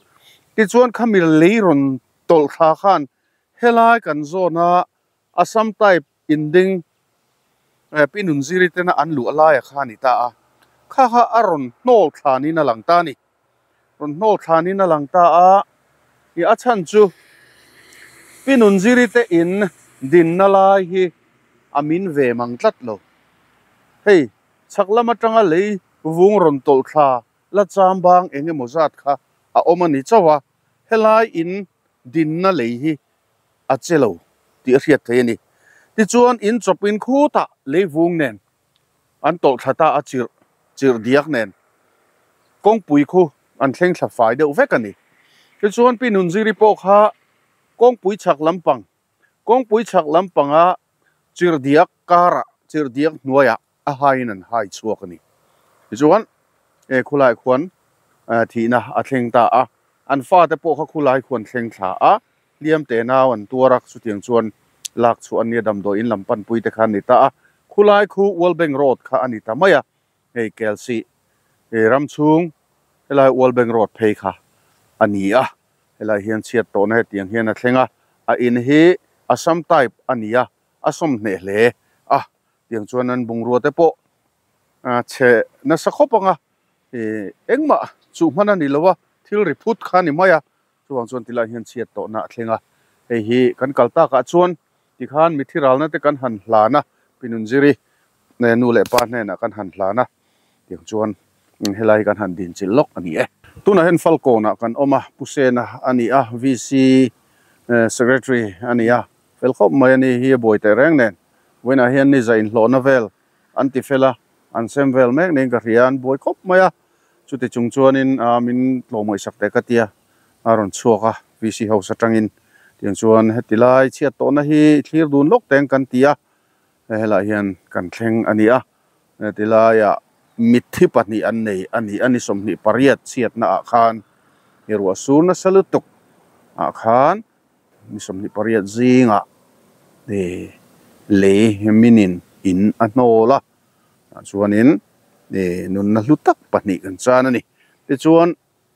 Tichuan khami lei rawn tawlh thla khan helai kan zawna Assam type Inding Pi Nunziri tena an luah laia kha a ni ta a, kha kha a rawn hnawl thlanin a lang ta a ni. Rawn hnawl thlanin a lang ta a, i a chhan chu Pi Nunziri te in dinna lai hi a min ve mang tlat lo. Hei, chhak lam atanga lei vung rawn tawlh thla la cham bang eng emaw zat kha a awm a ni chauh a, helai in dinna lei hi a che lo tih a hriat thei a ni. Tichuan in chawpin khutah leivung nen an tawlh thla ta a chirh chirh diak nen kawngpui khu an thleng thla fai deuh vek a ni. Tichuan Pi Nunziri pawh kha kawngpui chhak lampang kawngpui chhak lampanga chirh diak karah chirh diak hnuaiah a haiin an hai chhuak a ni. Tichuan he khulai khuan thihna a thleng ta a, an fate pawh kha khulai khuan thleng thla a, hliam te nau an tuar a, chutiang chuan lak chhuah an nia damdawi in lam panpui te kha an ni ta a, khulai khu World Bank Road kha a ni ta mai a, hei Kelsih ram chhung helai World Bank Road phei kha a ni a, helai hian chhiat tawhna hetiang hian a thleng a, a in hi Assam type a ni a, a sawmhneh hle a. Tiang chuan an bungrua te pawh chhe nasa khawp ang a, engmah chuh hman a ni lo a, thil ri phut kha a ni mai a, chuvang chuan tilai hian chhiat tawhna a thleng a, Hei hi kan kal takah chuan tikhan mithi ralna te kan han hlan a, Pi Nunziri nu leh pa hnenah kan han hlan a, tiang chuan helai hi kan han dinchilh lawk a ni e. Tunah hian Falkawnah kan awm a, Pu Sena a ni a, VC Secretary a ni a, fel khawp mai a ni hi a buai teh reng nen. Vawiinah hian ni za inhlawhna vel an ti fel a, an sem vel mek niin ka hria a, an buai khawp mai a. Chuti chung chuanin min tlawmngaihsak teh ka tia a rawn chhuak a, VC House atangin. Tiang chuan heti lai chhiat tawhna hi thlir dun lawk teng kan ti a, helaiah hian kan thleng a ni a. Heti laiah mitthi pahnih an nei a ni a, ni 28 chhiatna ah khan i ruah sur nasa lutuk ah khan ni 28 zingah lei minin in a hnawl a. Tah chuanin nunna hlu tak pahnih kan chan a ni. Tichuan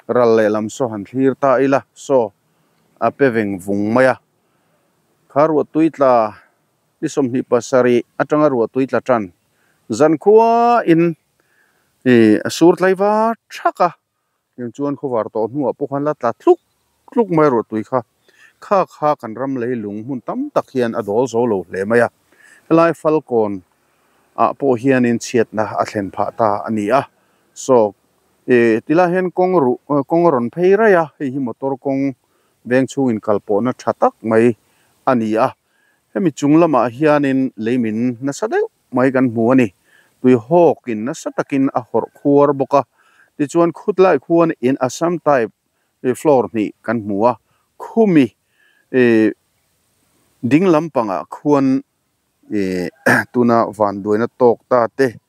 ral lehlam saw han thlir ta ila saw a pe veng vung mai a. Kha ruahtui tla ni 27 atanga ruahtui tla tan zankhua in a sur tlai var thak a. Tiang chuan khawvar tawh hnuah pawh khan la tla tluk tluk mai ruahtui kha. Kha kha kan ram leilung hmun tam tak hian a dawl zo lo hle mai a. Helai Falkawn ah pawh hianin chhiatna a thlen phah ta a ni a. Saw ih tilai hian kawng ruh kawng a rawn phei raih a, hei hi motor kawng veng chhungin kal pawhna tha tak mai a ni a. Hemi chung lamah hianin leimin nasa deuh mai kan hmu a ni. Tui hawkin nasa takin a hawrh khuar bawk a, tichuan khutlai khuan in Assam type floor hnih kan hmu a, khumi ding lampangah khuan tuna vanduaina tawk ta te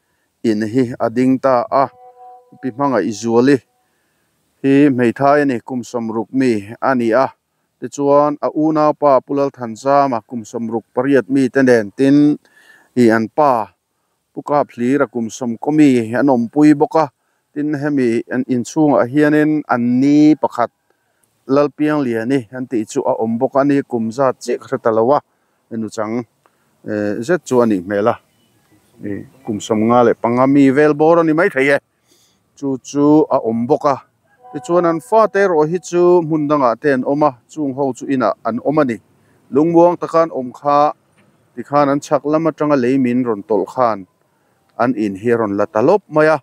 in hi a ding ta a, Pi Hmangaihzuali hi hmeithai a ni, kum 60 mi a ni a. Tichuan, a unaupa Pu Lalthanzama kum 68 mite nen tin ih an pa Pu Kaphlira kum 90 mi an awmpui bawk a. Tin, hemi an inchhungah hianin an ni pakhat Lalpiangliani an tih chu a awm bawk a ni, kum zat chiah ka hre ta lo a, nuchang zet chu a nih hmel a, kum 55 mi vel bawr a ni maithei e. Chu chu a awm bawk a. Tichuan an fate erawh hi chu hmun dangah te an awm a, chung ho chu inah an awm a ni. Lungmuang taka an awm kha tikhan an chhak lam atanga lei min rawn tawlh khan an in hi a rawn la ta lawp mai a.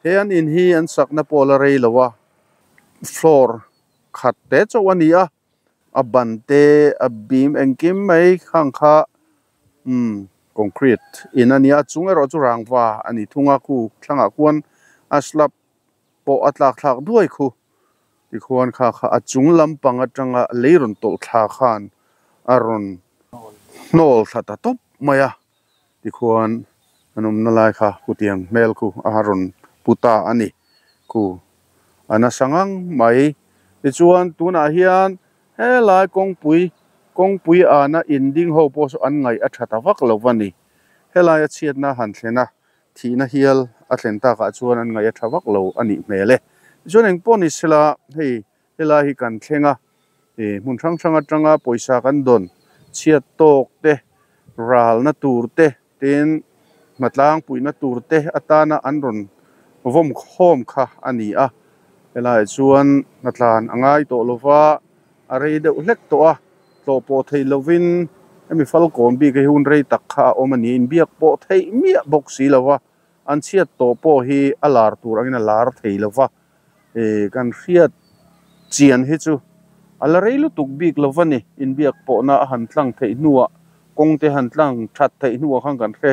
He an in hi an sakna pawh a la rei lo a, floor khat te chauh a ni a, a ban te a bim engkim mai khang kha umm concrete in a nia chung erawh chu rangva a ni thung a khu thlangah khuan a slab pawh a tlak thlak duai khu tikhuan kha kha a chung lampang atanga lei rawn tawlh thla khan a rawn hnawl thla ta tawp mai a tikhuan an awmna lai kha kutiang hmel khu a rawn pu ta a ni khu a nasa ngang mai tichuan tunah hian helai kawngpui kawngpui ana in ding ho pawh saw an ngaih a tha ta vak lo va ni helai a chhiatna han thlen a thihna hial a thlen takah chuan an ngaih a tha vak lo a nih hmel e tichuan engpawh ni sela hei helai hi kan thleng a ih hmun hrang hrang atanga pawisa kan dawn chhiat tawk te ralna tur te tin hmatlang puihna tur te atana an rawn vawm khawm kha a ni a helaiah chuan hnatlan a ngai tawh lova a rei deuh hlek tawh a tlawh pawh theih lovin hemi falkawn bik hi hun rei tak kha a awm a ni inbiak pawh theih miah bawk si lova an chhiat tawh pawh hi a lar tur angin a lar thei lova ih kan hriat chian hi chu a la rei lutuk bik lova ni inbiak pawhna a han tlang theih hnuah kawng te han tlang that theih hnuah khan kan hre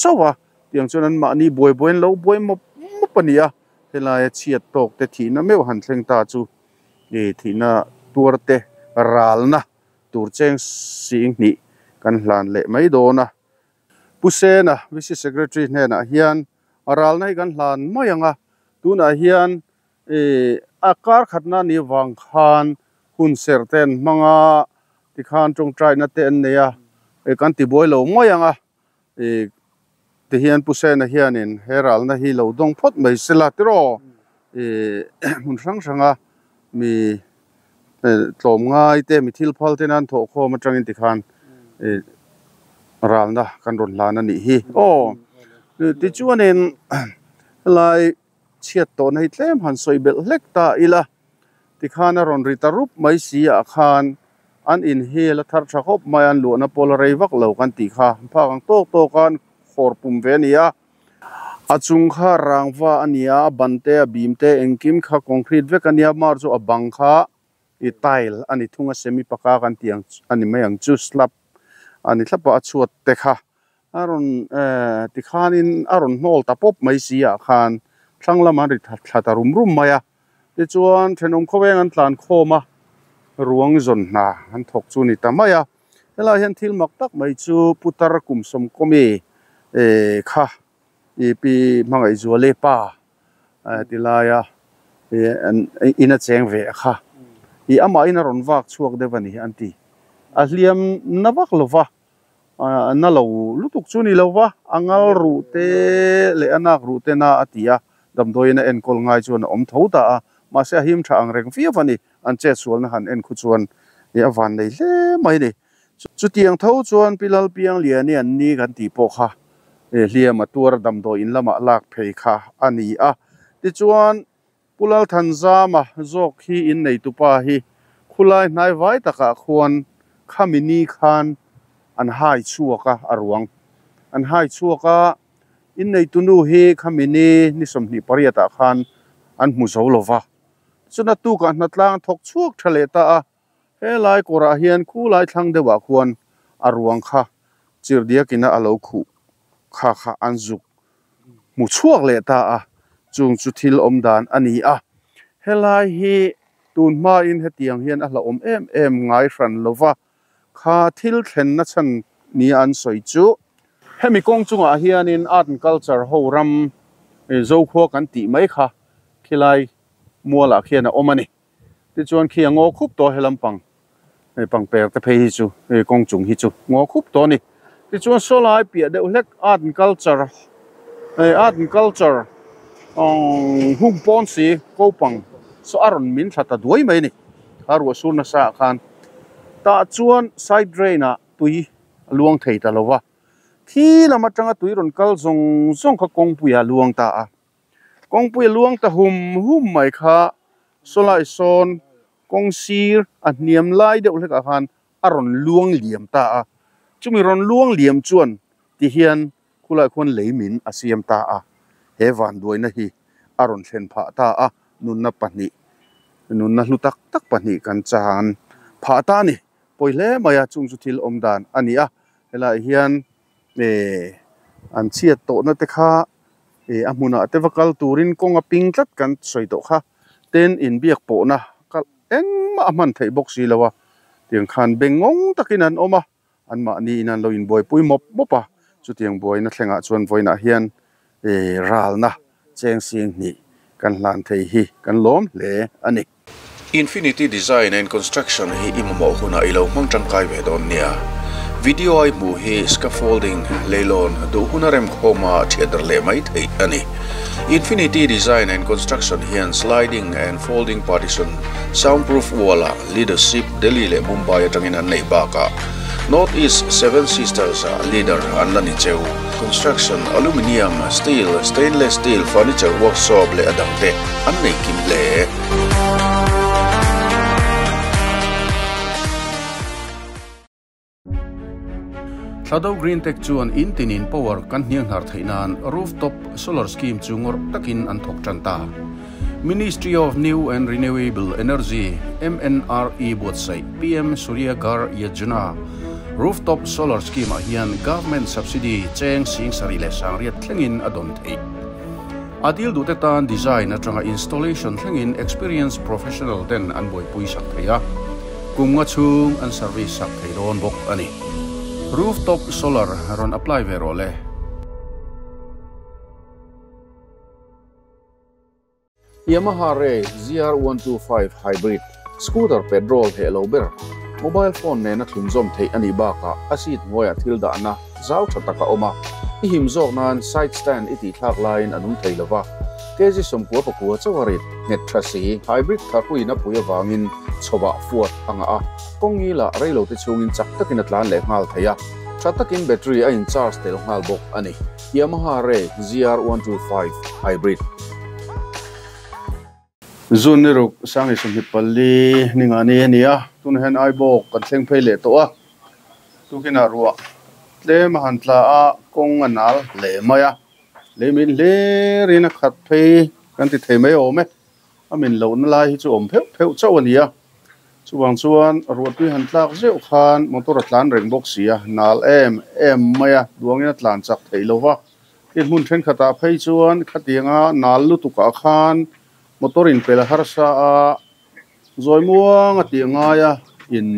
chauh a tiang chuan an mahni buai buai an lo buai mawp mawp a ni a helaia chhiat tawk te thihna meuh han thleng ta chu ih thihna tuar te ralna tur cheng sing hnih kan hlan leh mai dawn a. Pu Sena VC Secretary hnenah hian a ralna hi kan hlan mai ang a, tunah hian ih a kar khatna ni vang khan hun serh te an hmang a, tikhan tawngtaina te an nei a, ih kan ti buai lo mai ang a, ih tihian Pu Sena hianin he ralna hi lo dawng phawt mai sela tiraw ih hmun hrang hranga mi tlawm ngai te mi thil phal te nan thawh khawm atangin tikhan ih ralna kan rawn hlan a nih hi aw tichuanin helai chhiat tawhna hi tlem han sawi belh hlek ta ila tikhan a rawn ri ta rup mai si ah khan. An in hi la thar tha khawp mai a, an luahna pawh la rei vak lo kan tih kha. Phak ang tawk tawk a an khawr pum ve a ni a. A chung kha rangva a ni a, a ban te a bim te engkim kha concrete vek a nia, mar chu a bang kha i tile a ni thung a, semi paka kan tih ang a ni mai ang chu slab a ni thlap a, a chhuat te kha a rawn eh tikhanin a rawn hnawl ta pawp mai si ah khan thlang lamah an ri thla ta rum rum mai a. Tichuan thenawm khawveng an tlan khawm a, ruang zawn hna an thawk chu a ni ta mai a. Helaiah hian thil mak tak mai chu Putar kum sawmkawmi eh kha i pi Hmangaihzuali pa ti laia an in a cheng ve a kha i amahin a rawn vak chhuak deuh a ni an ti. A hliam na vak lo va, na lo lutuk chu ni lo va, a ngal ruh te leh a nak ruh te na a ti a, damdawiin a enkawl ngai chuan a awm tho ta a, mahse a him tha ang reng viau a ni, an chetsualna han en khu chuan i a van nei hle mai a ni. Chutiang tho chuan Pi Lalpiangliani an ni kan tih pawh kha hliam a tuar damdawiin lamah lak phei kha a ni a, tichuan Pu Lalthanzama zawk hi inneitupa hi khulai hnai vai takah khuan khami ni khan an hai chhuak a, a ruang an hai chhuak a, inneitunu hi khami ni ni 28 ah khan an hmu zo lo va, chuna tukah hnatlang thawk chhuak tha leh ta a, helai kawrah hian khulai thlang deuhah khuan a ruang kha chirhdiakina a lo khuh kha kha an zuk hmu chhuak leh ta a, chung chu thil awm dan a ni a. Helai hi tun hmain hetiang hian a hlauhawm em em ngai hran lo va, kha thil thlenna chhan nia an sawi chu. Hemi kawng chungah hianin art and culture ho ram Zokhua kan tih mai kha khilai mualah khian a awm a ni. Tichuan khi a ngaw khup tawh he lampang hei pangper te phei hi chu hei kawng chung hi chu ngaw khup tawh a ni. Tichuan saw lai piah deuh hlek art and culture hei art and culture hung pawn si kopang saw a rawn min thla ta duai mai a ni. Kha ruah sur nasa ah khan tah chuan side drain ah tui a luang thei ta lo va, thi lam atanga tui rawn kal zawng zawng kha kawngpui ah a luang ta a. Kawngpui a luang ta hum hum mai kha sawlai sawn kawng sir a hniam lai deuh hlekah khan a rawn luang liam ta a, chumi rawn luang liam chuan ti hian khulai khuan lei min a siam ta a, he vanduaina hi a rawn thlen phah ta a, nunna pahnih nunna hlu tak tak pahnih kan chan phah ta a ni, pawi hle mai a chung chu thil awm dan a ni a, helaiah hian eh an chhiat tawhna te kha Ih a hmunah te va kal turin kawng a ping tlat kan sawi tawh kha ten inbiak pawhna kal engmah a hman theih bawk si lo a tiang khan bengngawng takin an awm a anmahni in an lo inbuaipui mawp mawp a chutiang buaina thlengah chuan vawiinah hian ih ralna cheng sing hnih kan hlan thei hi kan lawm hle a ni. Infinity Design and Construction hi i mamawh hunah i lo hmang tangkai ve dawn nia. Video a i hmuh hi scaffolding, leilawn, duh huna remkhawma thiatder leh mai theih a ni. Infinity Design and Construction hian sliding and folding partition, soundproof wall-ah leadership Delhi leh Mumbai atangin an neih bakah North East Seven Sisters-ah leader an la ni cheu. Construction, aluminium, steel, stainless steel, furniture workshop leh a dangte an nei kim hle. Thladou Green Tech chuan in tinin power kan hnianghnar theih nan rooftop solar scheme chu ngawrh takin an thawk tan ta. Ministry of New and Renewable Energy, MNRE, buatsaih PM Surya Ghar Yojana rooftop solar scheme ah hian government subsidy cheng sing sarih leh sangriat thlengin a dawn theih. A dil duhte tan design atanga installation thlengin experienced professional ten an buaipui sak thei a, kum nga chhung an service sak thei dawn bawk a ni. Rooftop solar rawn apply ve rawh le. Yamaha Ray ZR125 Hybrid scooter petrol heh lo ber, mobile phone nena thlunzawm theih a nih bakah a seat hnuaiah thil dahna zau tha tak a awm a, i him zawk nan side stand i tih thlak laiin a nung thei lo va, kg 99 chauh a rit nghet tha si. Hybrid tharpuiin a pui avangin chhawah fuat a ngah a, kawng ngilah reilote chhungin chak takin a tlan leh nghal thei a, tha takin battery a in charge tel nghal bawk a ni. Yamaha Ray ZR125 Hybrid. June ni ruk sang hi sawmhnih pali ni nga ni a ni a tunah hian Aibawk kan thleng phei leh tawh a tukinah ruah tlem a han tla a kawng a nal hle mai a lei min hlir in a khat phei kan ti thei mai awm e a min lohna lai hi chu awm pheuh pheuh chauh a ni a chuvang chuan ruahtui han tlak zeuh khan motor a tlan reng bawk si a nal em em mai a duangin a tlan chak theih lo va tin hmun thenkhatah phei chuan khatianga nal lutukah khan motor in pel harsa a zawi muang a tih ngai a in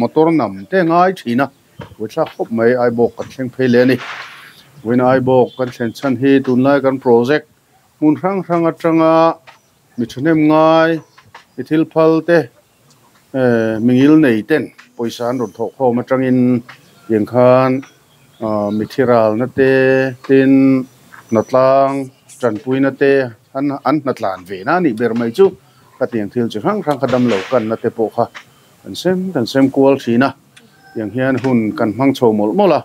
motor nam te ngai thin a buaithlak khawp mai Aibawk kan thleng phei leh a ni vawiin Aibawk kan thlen chhan hi tunlai kan project hmun hrang hrang atanga mi thahnem ngai mi thil phal te mingil nei ten pawisa an rawn thawh khawm atangin tiang khan mi thi ralna te tin hnatlang tanpuina te an an hnatlan ve na a nih ber mai chu ka tiang thil chi hrang hrang kha damlo kanna te pawh kha kan sem kan sem kual thin a tiang hian hun kan hmang chho mawlh mawlh a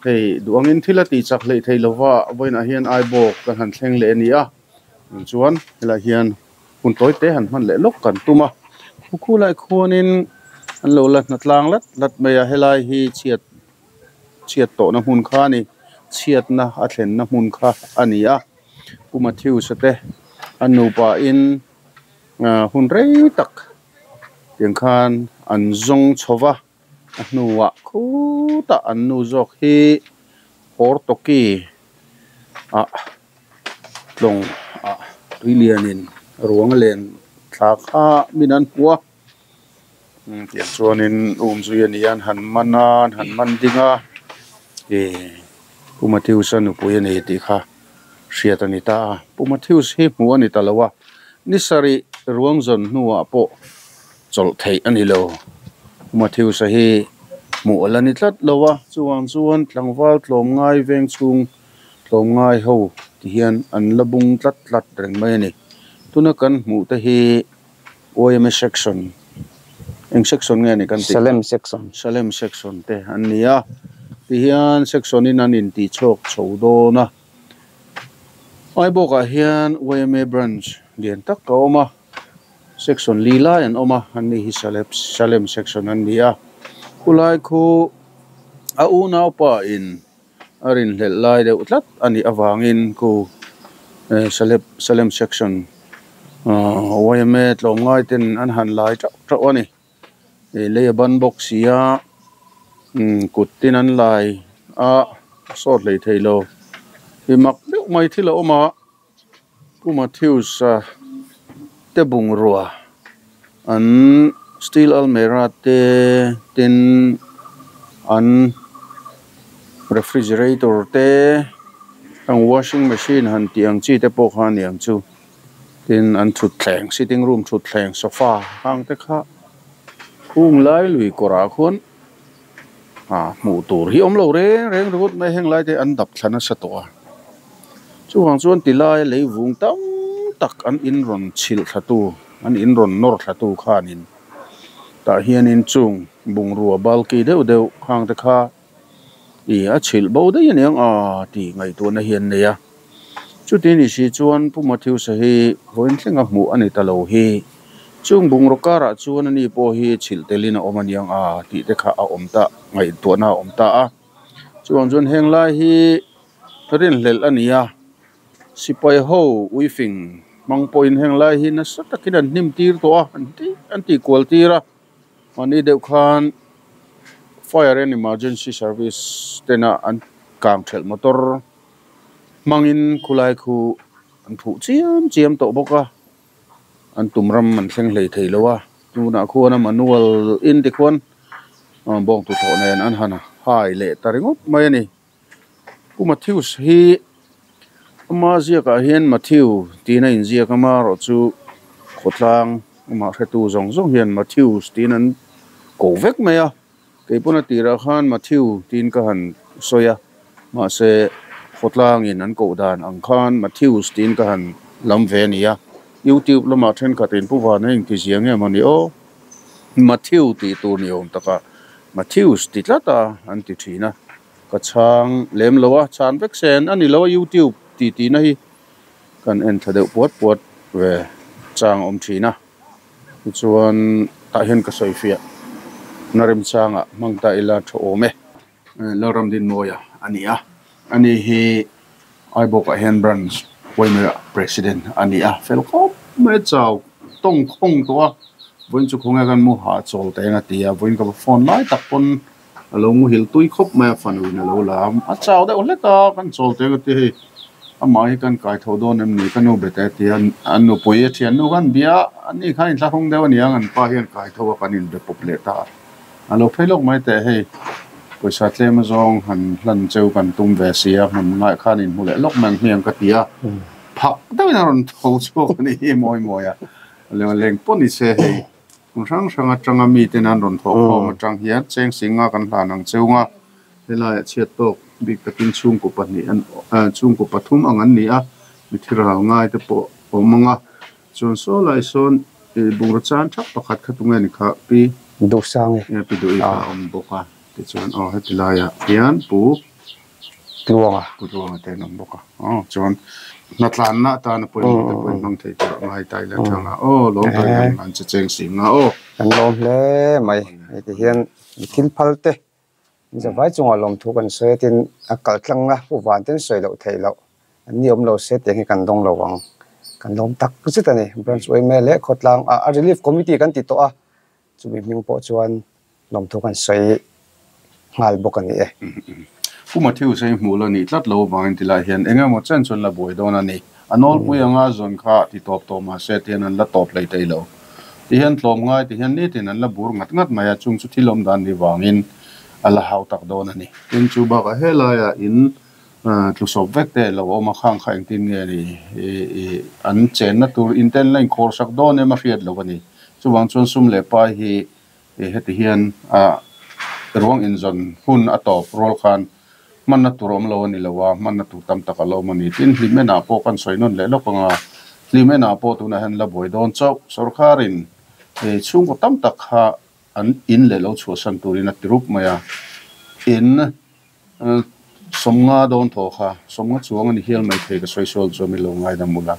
hei duh angin thil a tih chak hleih theih lova vawiinah hian Aibawk kan han thleng leh a ni a chuan helaiah hian. Hun tawi te han hman leh lawk kan tum a, khu lai khuanin an lo la hna tlang lat lat mai a, helai hi chhiat chhiat tawhna hmun kha a ni, chhiatna a thlenna hmun kha a ni a, Pu Matthews a te an nupa in hun rei tak tiang khan an zawng chho va, a hnuah khutah an nu zawk hi Hortoki ah. Tlawng ah tui lianin ruang a len thla kha min an hmu a tiang chuanin um zui a ni a an han man a an han man ding a ih Pu Matthews a nupui a ni tih kha hriat a ni ta a Pu Matthews hi hmuh a ni ta lo a ni sarih ruang zawn hnuah pawh chawlh theih a ni lo Pu Matthews a hi hmuh a la ni tlat lo a chuvang chuan tlangval tlawmngai veng chhung. Tlawmngai ho ti hian an la bung tlat tlat reng mai a ni. Tuna kan hmuh te hi YMA section eng section nge ni kan tih? Salem section. Salem section te an ni a. Ti hian section in an intih chhuak chho dawn a. Aibawkah hian YMA branch lian tak a awm a. Section li lai an awm a, an ni hi Salem section an ni a. Khulai khu a unaupa in. A rinhlelh lai deuh tlat a nih avangin ku Salep Salem section yma tlawmngai ten an han lai teuh teuh a ni ih lei a ban bawk si a kut tin an lai a sawt hlei thei lo ih mak deuh mai thil a awm a Pu Matthews a te bungrua an steel almirah te tin an refrigerator te an washing machine han tih ang chi te pawh kha a ni ang chu tin an thutthleng sitting room thutthleng sofa hang te kha hung lai lui kawrah khuan ah hmuh tur hi awm lo reng reng ringawt mai heng lai te an dap thla nasa tawh a chuvang chuan ti lai lei vung tam tak an in rawn chhilh thla tu an in rawn nawr thla tu khanin tah hianin chung bungrua balki deuh deuh khang te kha ih a chhilh bo daih aniang a tih ngaihtuahna hi an nei a chuti ni si chuan Pu Matthews-a hi vawiin thlenga hmuh a ni ta lo hi. Chung bungraw karah chuan ani pawh hi chhilh telin a awm aniang a tih te kha a awm ta, ngaihtuahna a awm ta a. Chuvang chuan heng lai hi rinhlelh a ni a, sipai ho uifing hmang pawhin heng lai hi nasa takin an hnim tir tawh a, an ti an tih kual tir a. Mahni deuh khan Fire and Emergency Service tena an kang thelh motor hmangin khulai khu an phuh chiam chiam tawh bawk a. An tum ram an thleng hlei thei lo a, tunah khuan a manual in te khuan bawng tuthawh nen an han hai leh ta ringawt mai a ni. Pu Matthews hi ama ziakah hian Matthew tiin a inziak a, amaherawhchu khawtlang amah hretu zawng zawng hian Matthews tiin an ko vek mai a. Kei pawn a tirah khan Matthew tiin ka han sawi a, mahse khawtlangin an koh dan ang khan Matthews tiin ka han lam ve a ni a. YouTube lamah thenkhatin Pu Vana engti zia nge maw ni aw, Matthew tih tur ni awm taka Matthews ti tlat a an ti thin a, ka chhang lem lo a, chhan vek sen a ni lo a YouTube tih tihna hi kan en thla deuh puat puat ve. chang a awm thin a tichuan tah hian ka sawi fiah na remchangah hmang ta ila tha awm e. Lalramdinmawia a ni a, ani hi Aibawkah hian branch Waimera president a ni a, fel khawp mai a chau tawng khawng tawh a, vawiin chu khawnge kan mu hahchawl ta eng a ti a, vawiin ka va phone lai tak pawn a lo muhil tui khawp mai a, fanu in a lo la a, a chau deuh hlek a, kan chawl ta eng a ti hei amah hi kan kai tho dawn em ni ka nu be teh a ti a, an nupui a thiannu khan bia a, ani khan inthlahrung deuh a ni ang an pa hian kai tho a kan inbe pawp leh ta a. A lo phei lawk mai teh hei, pawisa tlem azawng han hlan cheu kan tum ve si a, hmun ngaih khan inhmu leh lawk mai ang hmiang ka ti a, phak deuhin a rawn tho chhuak a nih hi mawi mawi a, leng pawh ni se hei hmun hrang hrang atanga miten an rawn thawh khawm atang hian cheng singa kan hlan ang cheu nga, helaiah chhiat tawk bik takin chhungkaw pahnih an chhungkaw pathum ang an ni a, mithi ral ngai te pawh awm ang a. Chuan saw lai sawn i bungraw chan thap pakhat kha tunge ni kha pi Duhsang e. Pi Duhi kha a awm bawk a, tichuan aw heti laiah hian Pu Tluanga. Pu Tluanga te an awm bawk a, aw chuan hnatlanna atana pawimawh te pawh in hmang thei tur a ngai ta ila thang a, aw lawm tak in an che cheng si nga aw. Kan lawm hle mai, heti hian thil phal te zavai chungah lawmthu kan sawi a tin a kal tlangna Pu Van ten sawi loh theih loh An ni awm lo se tiang hi kan dawng lo ang. Kan lawm tak zet a ni. Branch yma leh khawtlang ah a Relief Committee kan ti tawh a, chumi hming pawh chuan lawmthu kan sawi nghal bawk a ni e. Pu Matthew sawi hmuh la nih tlat lo avangin ti lai hian eng emaw chen chuan la buai dawn a ni. A nawlpui anga zawn kha ti tawp tawh mah se tihian an la tawp hlei thei lo. Tihian tlawm ngai tihian nitin an la bur ngat ngat mai a, chung chu thil awm dan ni vangin a la hau tak dawn a ni. Tin, chu bakah helaiah in Tlusawp vek te lo awm a, khang kha engtin nge ni an chenna tur in ten la inkhawr sak dawn em a hriat lo a ni. Chuvang chuan sum leh pai hi heti hian ruang inzawn hun a tawp rual khan hmanna tur awm lo a ni lo a, hmanna tur tam tak a lo awm a ni. Tin, Hlimenah pawh kan sawi nawn leh lawk ang a, Hlimenah pawh tunah hian la buai dawn chauh. Sorkarin chhungkaw tam tak kha an in leh lo chhuahsan turin a ti rup mai a, in Sawmnga dawn thaw kha, sawmnga chuang a ni hial mai thei ka sawi sual chuan min lo ngaidam ula.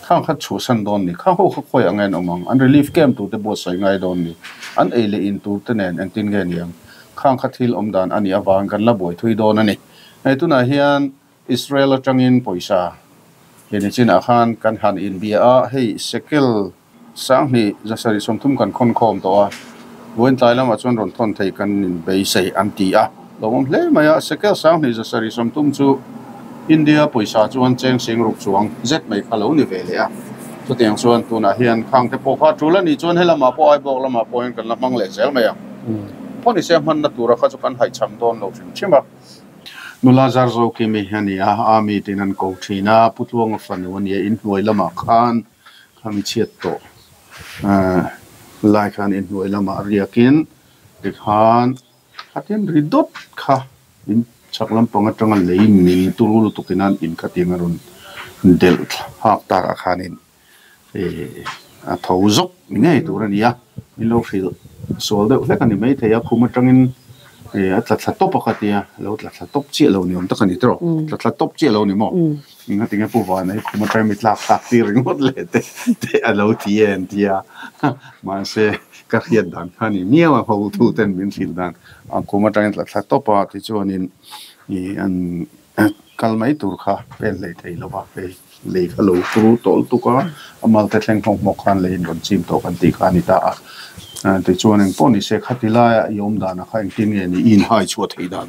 Khang kha chhuahsan dawn ni, khang ho kha khawi ang en awm ang, an relief camp tur te buatsaih ngai dawn ni, an ei leh in tur te nen engtin nge ni ang, khang kha thil awm dan a nih avangin kan la buai thui dawn a ni. Hei tunah hian Israel atangin pawisa he ni chinah khan kan han inbia a, hei sekel Sanghnih zasarih 30 kan khawn khawm tawh a, vawiin tlai lamah chuan rawn thawn thei kan inbeisei an ti a, lawmawm hle mai a, Sekel sanghnih zasarih 30 chu India pawisa chuan cheng sing ruk chuang zet mai kha lo ni ve leh a, chutiang chuan tunah hian khang te pawh kha tul a nih chuan helamah pawh Aibawk lamah pawh hian kan la hmang leh zel mai ang. Phawnise hmanna tura kha chu kan haihchham dawn lo hrim hrim a. Nula Zarzo Kimi a ni a, Army tiin an ko thin a, Pu Tluanga fanu a ni a, inhnuai lamah khan Khami chhiat tawh lai khan inhnuai lamah riakin tikhan khatin ri dawt kha in chhak lampang atanga lei min turu lutukin an in khatiang a rawn delh thlak takah khanin ih a tho zawk ni ngei tur a ni a, min lo hrilh sual deuh hlek a ni maithei a, khum atangin ih a tla thla tawp a kha tia, a lo tla thla tawp chiah lo ni awm tak a ni tawh, tla thla tawp chiah lo ni maw? Engati nge Pu Vana hi khum atang mi tlak thlak tir ringawt leh te te a lo ti e an ti a, mahse ka hriat dan kha a ni miau a, hotu ten min hrilh dan a khum atangin tla thla tawp a tichuanin ih an kal mai tur kha pen hlei thei lo va, hei lei kha lo turu tawh lutuk a, a mal te thleng hmawk hmawk khan leiin rawn chim tawh kan tih kha a ni ta a, tichuan engpawh ni se khati laia i awm danah kha engtin nge ni i inhai chhuah theih dan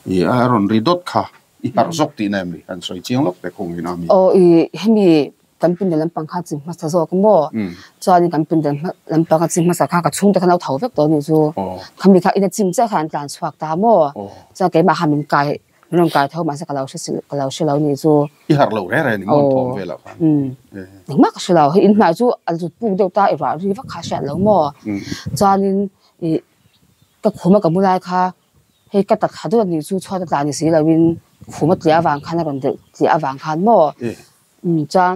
ih a rawn ri dawt kha. I harh zawk tihna em ni? Kan sawi chiang lawk te khawng in a mi. Aw i hemi kan pindan lampang kha chi hmasa zawk maw? Chuanin kan pindan lampang a chi hmasa kha ka chhungte khan a lo tho vek tawh a nih chu. Khami kha ina chim chiah kha an tlan chhuak ta maw? Chuan keimah kha min kai min rawn kai tho mahse ka lo hre si ka lo hre lo nih chu. I harh lo reng reng ni maw an thawm velah khan? Engmah ka hre lo. Hei in hmai chu a zut puk deuh ta i ruah ri vak kha a hriat lo maw? Chuanin i ka khum a ka mu lai kha Hei ka takha deuh a nih chu chhuat a tla ni si loin khum a tliah avang khan a rawn delh tliah avang khan maw chuan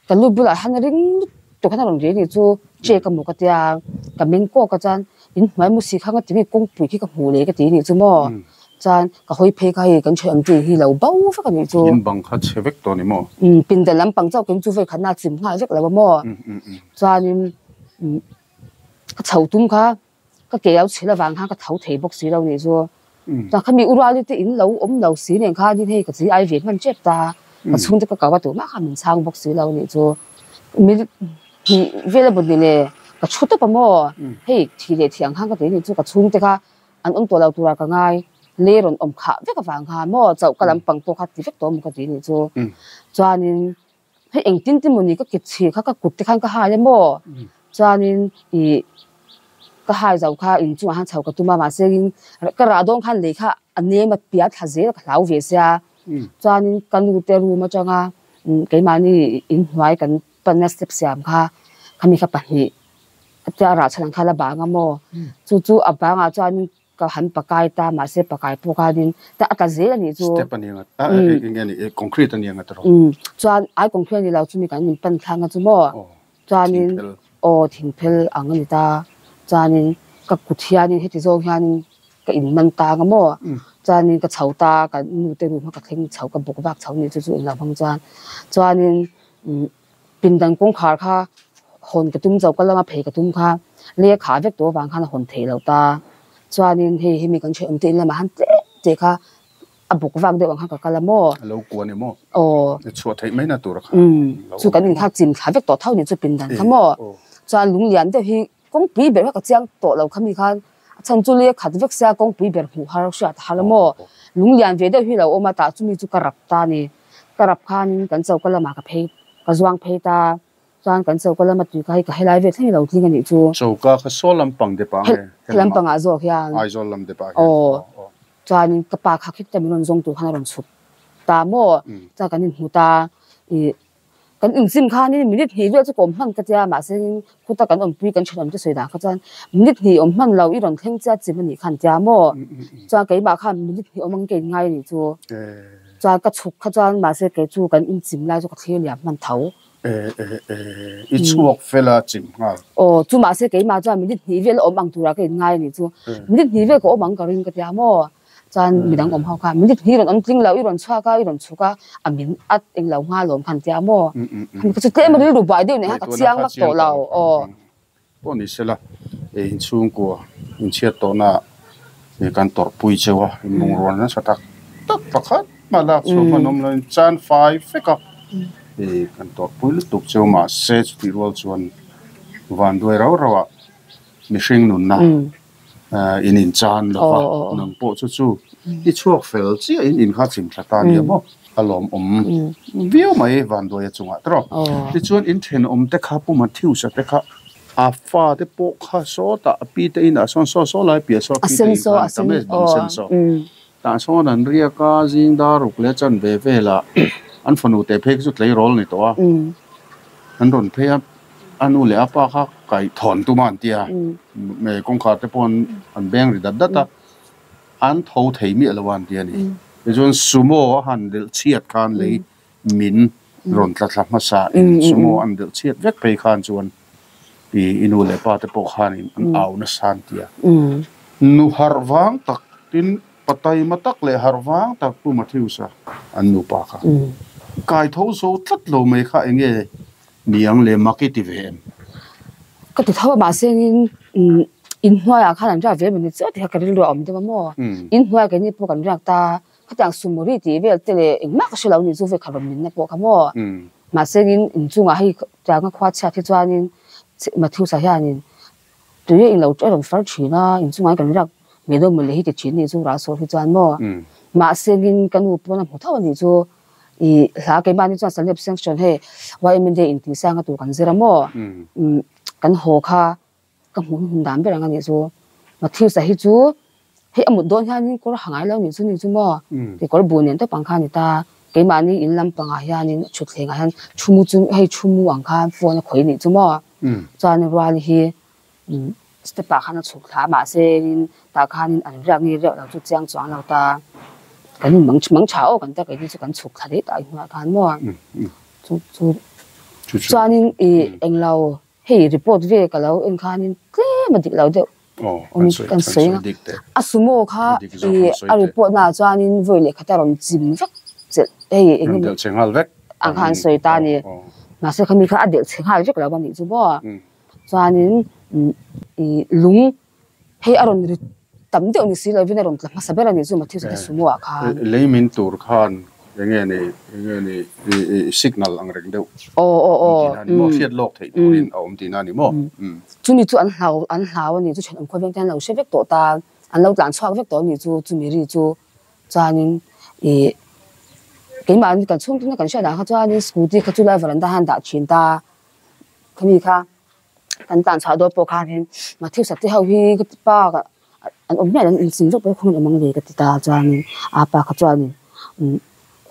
ka lu bulah hian a ring lutuk khan a rawn ri a nih chu che ka hmu ka tia ka meng kawk a chuan in hnuai mu si kha nga ti nge kawngpui khi ka hmuh leh ka ti a nih chu maw Chuan ka hawi phei kha hei kan thiam tih hi lo bo vek a nih chu. In bang kha chhe vek tawh a ni maw? Umm pindan lampang chauh keng chu vawi khatna a chim nghal vek lo a maw? Chuanin umm ka chho tum kha ka ke lo chhil avang khan ka tho thei bawk si lo nih chu. Chuan khami u Ruali te in lo awm lo si nen khanin hei ka chi ai ve hman tep ta, ka chhungte ka kau a tumah khan min chhang bawk si lo nih chu. Minute hnih vel a bawt ni le ka thu tawp a maw? Hei thih leh thih ang khan ka ti nih chu ka chhungte kha An awm tawh lo tura ka ngai. Le rawn awm khah vek avang kha maw chauh ka lampang pawh kha ti vek tawh maw ka ti nih chu. Chuanin hei engtin te mawni ka kit chhir kha ka kut te khan ka hai a maw. Chuanin ih ka hai zo kha inchungah khan chho ka tum a mahse in ka rah dawn khan lei kha a nem a piah thla zel a ka hlau ve sia. Chuanin ka nu te room atanga keimahni inhnuai kan panna step siam kha khami kha pahnih Atia rah chhan ang kha la bang a maw? Chu chu a bangah chuanin ka han pakai ta mahse pakai pawh khanin ta a tla zel a nih chu. Step a ni ang a, eng nge ni concrete a ni ang a tiraw? Umm chuan ai concrete a ni lo chumi kan min pan thlang a chu maw? Chuanin aw thingphel ang a ni ta chuanin ka kut hianin heti zawng hianin ka in man tang a maw? Chuanin ka chho ta ka nu te room kha ka thleng chho ka bawk vak chho ni chu chu englo hmang chuan chuanin umm. Pindan kawngkhar kha hawn ka tum chauh ka lama phei ka tum kha lei a khah vek tawh avang khan a hawn theih loh ta. Chuanin hei hemi kan ṭhenawm te in lamah han tlem teh kha a bawk vak deuh ang khan ka kal a maw? A lo kuan em aw? Aw. Chhuah theih mai na tur a kha. Umm chu kan in kha chim thla vek tawh tho ni chu pindan kha maw? Chuan lunglian deuh hi kawngpui ber kha ka chiang tawh lo kha mi khan a chhan chu lei a khat vek sia kawngpui ber hmuh har hriat a har a maw? Lunglian ve deuh hi lo awm a tah chumi chu ka rap ta a ni. Ka rap khanin kan choka lamah ka phei ka zuang phei ta chuan kan choka lama tui kha hei ka helai vel thleng i lo tling a nih chu. Choka kha saw lampang dep ah nge? He lampang ah zawk hian. Aizawl lam dep ah hian. Aw. Chuanin ka pa kha khit ta min rawn zawng tur khan a rawn chhuk ta maw? Chuan kan inhmu ta ih kan inchim khanin minute hnih vel chu ka awm hman ka tia mahse khuta kan awmpui kan thenawm te sawi dan kha chuan minute hnih awm hman lo i rawn thleng chiat chim a nih khan tia maw? Chuan keimah khan minute hnih awm ang ka inngai a nih chu. Chuan ka chhuk kha chuan mahse kei chu kan inchim lai chu ka thlir liam hman tho. E e e, i chhuak fel a chim nghal. Aw, chu mahse keimah chuan minute hnih vel awm ang turah ka inngai a nih chu. Minute hnih vel ka awm ang ka ring ka tia maw? Chuan midang awm ho kha minute hnih rawn awm tling lo, i rawn chhuak a, i rawn chhuk a, a min at eng lo nghal awm khan tia maw? Ka chu tlem a rilru buai deuh nen khan ka chiang vak tawh lo. Aw. Pawh ni sela, inchhungkua inchhiat tawhna kan tawrhpui cheu a, inlungrual nasa tak tak pakhat mah lak chhuah hman awm loin chan fai vek a, kan tawrhpui lutuk cheu mahse chutih rual chuan vanduai rau rau ah mihring nunna in inchan lo va, nang pawh chu chu i chhuak fel chiah in in kha chim thla ta nia maw? A lawmawm viau mai vanduai a chungah tawh. Tichuan in thenawm te kha Pu Matthews-a te kha a fa te pawh kha sawtah a pi te inah sawn saw saw lai piah saw a pi te in khan tam e bang sen saw. Tah sawn an riak a zing dar ruk leh chan ve velah an fanu teh phei kha chu tleirawl a ni tawh a. An rawn phei a a nu leh a pa kha kaih thawn tum a an ti a kawngkhar te pawh an beng ri dat dat a. An tho thei miah lo a an ti a ni. Tichuan sumo a han delh chhiat khan lei min rawn tla thla hmasa in sumo an delh chhiat vek phei khan chuan i i nu leh pa te pawh khanin an au nasa an ti a. Nu harh vang tak tin pataima tak leh harh vang tak Pu Matthews-a an nupa kha kai tho zo tlat lo mai kha eng nge niang le mak i ti ve em? Ka ti tho a mahse in inhnuaiah khan an riak ve mawni chiah tih kha ka rilru a awm deuh a maw? Inhnuaiah keini pawh kan riak ta, khatiang sumawri tih vel te leh engmah ka hre lo ni chu vekha rawn minna pawh kha maw? Mahse in inchungah hei tianga khua chhiat hi chuanin Matthews-a hianin tui a inlo a rawn far thin a, inchungah hian kan riak ngei dawn mawle hi ti thin ni chu ral sawi hi chuan maw? Mahse in ka nu pawn a hmu tho a nih chu. I hla keimahni chuan Salep Sanction hei YMA Day intihsang a tur kan zir a maw? Umm kan haw kha ka hmuh hmun dan ber ang a nih chu. Matthews-a hi chu hei a mut dawn hianin kawr ha ngai lo nih chu ni chu maw? Kekawr bu nen tawp ang kha a ni ta. Keimahni in lampangah hianin thutthlengah hian thu mu chu hei thu mu ang khan phone a khawih nih chu maw? Chuan Ruali hi step ah khan a chhuk thla a mahse in tah khanin an riak nge riak lo chu chiang chuang lo ta kan in mang mang tha aw kan ta keini chu kan chhuk thla daih tah hnuaiah khan maw chu chu chuanin ih englo hei report ve ka lo en khanin tlem a dik lo deuh. Kan sawi ang a sumo kha i a report na ah chuanin vawi leh khat a rawn chim vek che hei eng emaw ang kha an sawi ta a ni. Mahse khami kha a delh chhe nghal vek lo a nih chu maw. Chuanin i lung hei a rawn ri tam deuh ni si lovin a rawn tla hmasa ber a nih chu Matthew Sate sumo ah khan. Lei min tur khan Enge ni, enge ni i signal ang reng deuh awm tihna a ni maw? Hriat lawk theih turin a awm tihna a ni maw? Chumi chu an hlau, an hlau a ni chu thenawm khawveng te an lo hre vek tawh ta, an lo tlan chhuak vek tawh a ni chu, chumi ri chu chuanin ih keimahni kan chhung tuna kan hriat ah kha chuanin scooty kha chu lai veranda khan dah thin ta, khami kha kan tlan chhuah dawn pawh khanin Matthew Sate ho hi ka ti pa an awm hmiah lo an inching zawk pawh khawngaih awm ang ve ka ti ta chuanin a pa kha chuanin umm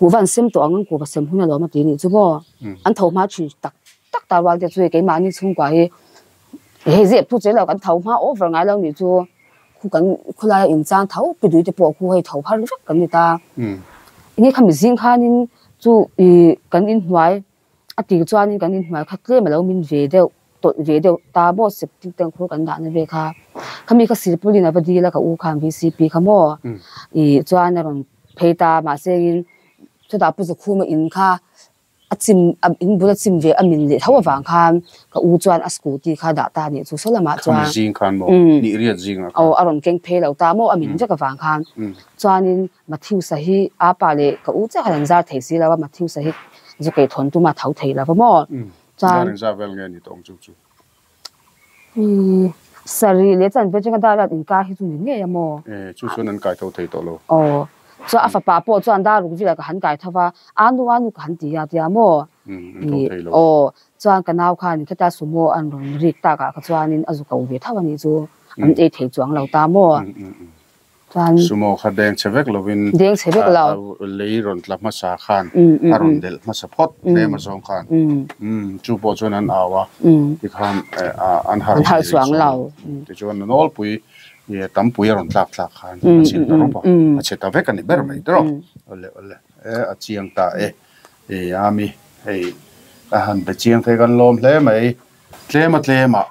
kuhva an sem tawh ang an kuhva sem hun alawm a ti anih chu maw an tho hma thin tak tak ta rual te chu hei keimahni chhungkua hi hei zep thu che lo kan tho hma over ngai lo nih chu khu kan khawlaia inchang tho pi dui te pawh khu hei tho phar vek kan ni ta enge khami zing khanin chu ih kan inhnuai. A tir chuanin kan inhnuai kha tlem a lo min ve deuh, tawlh ve deuh ta maw septic tank khur kan dahna ve kha. Khami kha silpulin a va dil a ka u khan VCP kha maw ih chuan a rawn phei ta mahse in chutah Pu Zakhuma in kha a chim a in bul a chim ve a min leh tho avang khan ka u chuan a scooty kha dah ta nih chu saw lamah chuan Khami zing khan maw nih riat zingah khan aw a rawn keng phei lo ta maw a min vek avang khan chuanin Matthews-a hi a pa leh ka u chiah khan an zar thei si lo a, Matthews-a hi zu kei thawn tuma tho thei lo va maw? Chuan. Dar engzah vel nge ni tawng chu chu? Ii, sarih leh chuan veg anga dar riat inkar hi chu ni ngei a maw? E, chu chuan an kai tho thei tawh lo. Aw, chuan a fapa pawh chuan dar ruk velah ka han kai tho va, anu anu ka han ti a tia maw? An tho thei lo. Aw, chuan ka nau khan kheta sumo an rawn rik takah kha chuanin a zu ko ve tho a nih chu, an ei thei chuang lo ta maw? Chuan. Sumo kha deng chhe vek lovin. Deng chhe vek lo. Lei rawn tla hmasa khan a rawn delh hmasa phawt tlem a zawng khan. Chu pawh chuan an au a, tikhan an harh thei rih chuang lo. Tichuan a nawlpui tampui a rawn tlak tlak khan a chim ta rawp a, a chhe ta vek a ni ber mai tawh. Awle awle e a chiang ta e. Ei ami hei a han be chiang thei kan lawm hle mai. Tlem a tlem ah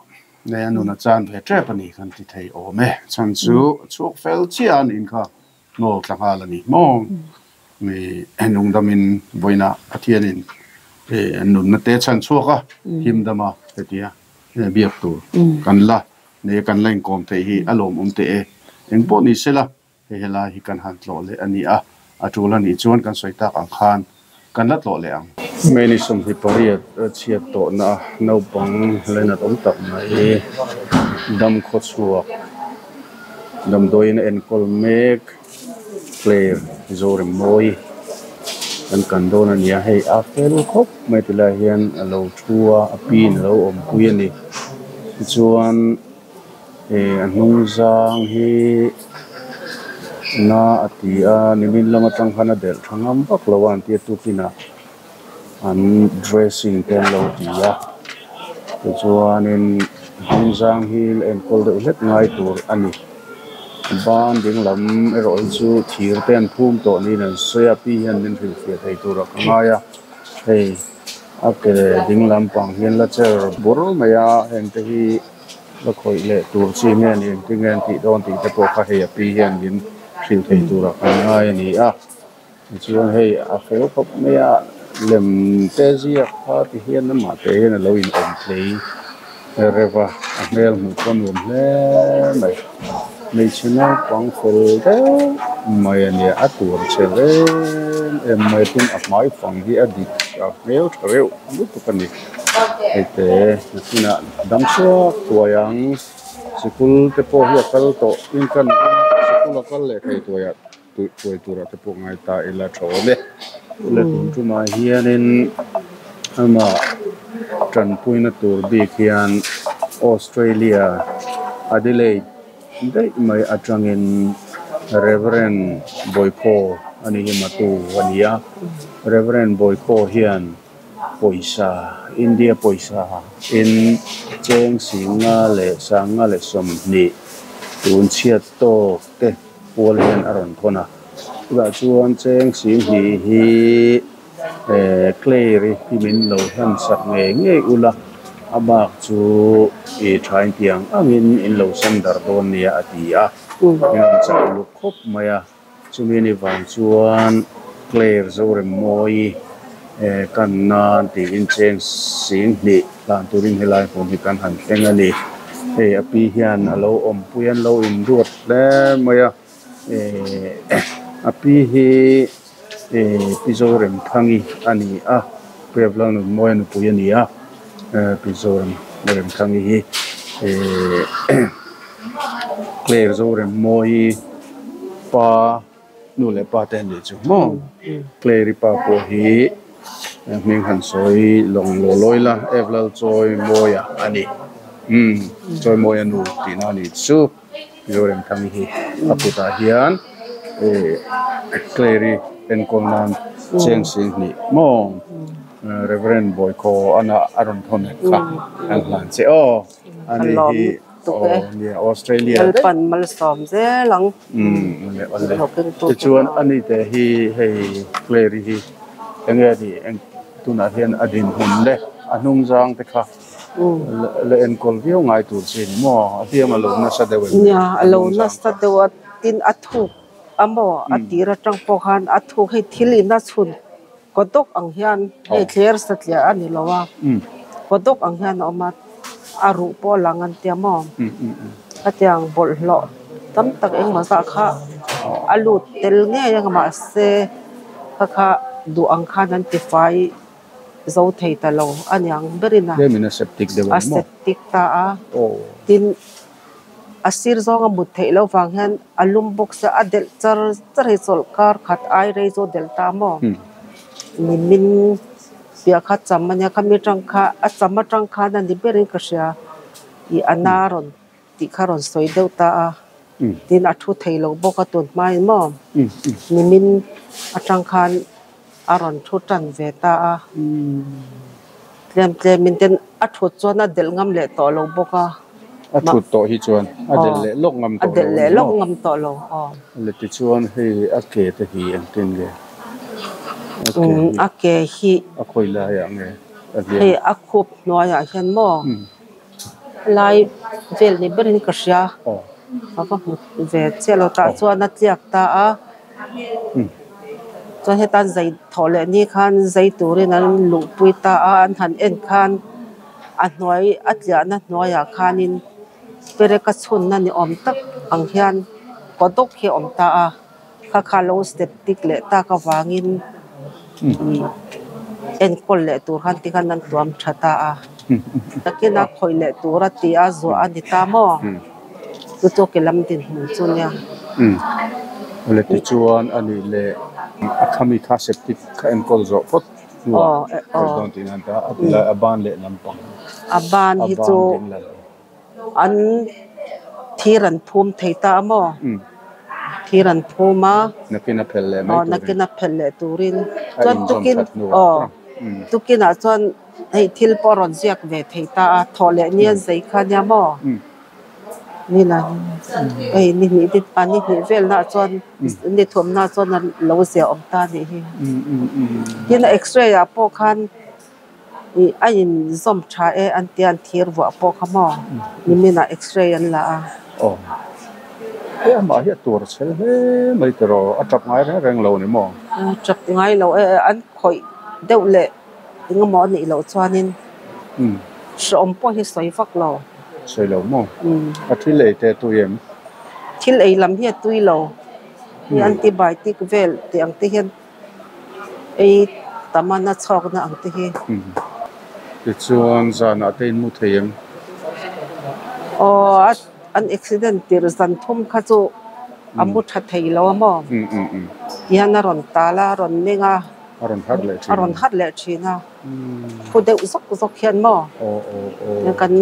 Nei a nun a chan ve tep a ni kan ti thei awm e. Chhan chu chhuak fel chiah a niin kha ngawl tla nghal a ni maw? Mi nungdamin vawiina Pathianin nunna te chhan chhuak a, himdama hetia biak tur kan la nei a kan la inkawm theih hi a lawmawm teh e. Engpawh ni sela Hei helai hi kan han tlawh leh a ni a, a tul a nih chuan kan sawi tak ang khan kan la tlawh leh ang. Many 28 chhiat tawhna naupang lenat awm tak mai dam khaw chhuak damdawiin a enkawl mek Claire Zoremmawi kan kan dawn a ni a, hei a fel khawp mai ti lai hian a lo thu a, a pin a lo awmpui a ni tichuan. Ih a hnung zang hi na a ti a nimin lam atang khan a delh tha ngam vak lo a an tia tukinah an dressing te an lo ti a tichuanin hnung zang hi la enkawl deuh hlek ngai tur a ni ban ding lam erawh hi chu thir te an phum tawh niin an sawi a pi hian min hrilhfiah thei turah ka ngai a hei a ke ding lampang hian la cher bur mai a heng te hi. La khawih leh tur chi nge ni engtin nge an tih dawn tih te pawh kha hei a pi hian min hrilh thei turah kan ngai a ni a tichuan hei a fel khawp mai a lem te ziak kha ti hian amah te hian a lo in awm tlei reuh a a hmel hmuh pawh a nuam hle mai hmeichhe naupang fel deuh mai a nia a tur chhe em em mai tin a hmai fang hi a dik a hmel tha reuh lutuk a ni. Hei nakinah dam chhuak tuai ang sikul te pawh hi a kal tawh in kan sikul a kal leh thei tuai ah tuai turah te pawh ngai ta ila tha awm e le tun tumah hianin amah tanpuina tur bik hian Australia Adelaide daih mai atangin Reverend Bawikhaw a ni hi matu a ni a Reverend Bawikhaw hian. Pawisa, India pawisa in cheng singa leh sanga leh 20 tun chhiat tawk te pual hian a rawn thawn a. Chutah chuan cheng 20 hi eh Claire-i hi min lo hlan sak ngei ngei ula A bak chu i thain tiang angin in lo sem darh dawn nia a ti a. Min rawn chauh luk khawp mai a. Chumi ni vang chuan Claire Zoremmawi kan nan tiin cheng sing hnih hlan turin helai hmun hi kan han thleng a ni. Hei a pi hian a lo awmpui a, an lo induat hle mai a. A pi hi Pi Zoremthangi a ni a, Pu Evlalnunmawia nupui a ni a, Pi Zoremthangi hi Claire Zoremmawi pa nu leh pa te a nih chu maw? Claire-i pa pawh hi hming han sawi lawng law lawi la, Evlalchawimawia a ni, Chawimawia nu tihna a nih chu. Zoremthangi hi a kutah hian Claire-i enkawl nan cheng sing hnih maw Reverend Bawikhaw ana a rawn thawn kha an hlan che aw ani hi aw nia Australia daih Lalpan malsawm zel ang awle awle tichuan ani te hi hei Claire-i hi enge a nih tunah hian a dinhmun le a hnung zang te kha. La enkawl viau ngai tur che ni maw? A hliam a lo nasa deuh em? Nia, a lo nasa deuh a, tin a thuk a maw? A tir atang pawh khan a thuk hei thil in a chhun kawdawk ang hian hei thler satliah a ni lo a, kawdawk ang hian a awm a, a ruh pawh a lang an tia maw? Khatiang bawlhhlawh tam tak engmaw zah kha a lut tel ngei ang mahse kha kha duh ang khan an tifai. Zo thei ta lo a niang berin a. Tlemin a septic deuh ang maw? A septic ta a. Tin, a sir zawng a mut theih loh vang hian a lum bawk sia, a delh char char hi chawlh kar khat ai rei chu a delh ta maw? Ni min piah kha cham a nia, khami atang kha a cham atang khan a ni berin ka hria i a na rawn tih kha rawn sawi deuh ta a. Tin, a thu thei lo bawk a tun hmain maw? Ni min atang khan. A rawn thu tan ve ta a, tlem tlemin ten a thut chuan a delh ngam leh tawh lo bawk a. A thut tawh hi chuan a delh leh lawk ngam tawh lo. A delh leh lawk ngam tawh lo, aw. Le tichuan hei a ke te hi engtin nge? A ke hi. A ke hi. A khawi laiah nge a hliam? Hei a khup hnuaiah hian maw lai vel ni berin ka hria. A va hmu ve chiah lo tah chuan a tliak ta a. Chuan hetan zai thawh leh ni khan zai turin an luhpui ta a, an han en khan a hnuai a tliahna hnuaiah khanin perek a chhunna ni awm tak ang hian kawdawk hi a awm ta a, kha kha lo step tik leh tak avangin ih enkawl leh tur khan tikhan an tuam tha ta a, nakina khawih leh tur a ti a zuah a ni ta maw? Chu chu ke lam dinhmun chu nia. Umm. Awle tichuan a nih leh a khami kha septic kha enkawl zawh phawt hnuah khawih dawn tih nan ta a ti lai a ban leh lampang. A ban hi chu an thir an phum thei ta a maw? Thir an phum a. Nakin a phel leh mai turin. Nakin a phel leh turin. Chuan tukin aw tukinah chuan hei thil pawh a rawn ziak ve thei ta a thawh leh nia zei kha nia maw? Ni la hei ni hnih te ah ni hnih vel nah chuan ni thum nah chuan a lo zia awm ta a nih hi. Tin a x-ray ah pawh khan ih a in zawm tha e an tia an thir vuah pawh kha maw nimin ah x-ray an la a. Aw he amah hi a tur chhel hle mai tiraw a tap ngai reng reng lo ni maw? A tap ngai lo e an khawih deuh leh. Engemaw a nih loh chuanin hrehawm pawh hi sawi vak lo. Sawi lo maw? A thil ei te a tui em? Thil ei lam hi a tui lo. Hei antibiotic vel tih ang te hian ei tam a na chhawkna ang te hi. Tichuan zanah te in mu thei em? Aw an accident tirh zan thum kha chu a mu tha thei lo a maw? Tihian a rawn tal a, a rawn meng a. A rawn harh leh thin. A rawn harh leh thin a. Phu deuh zawk zawk hian maw? Kan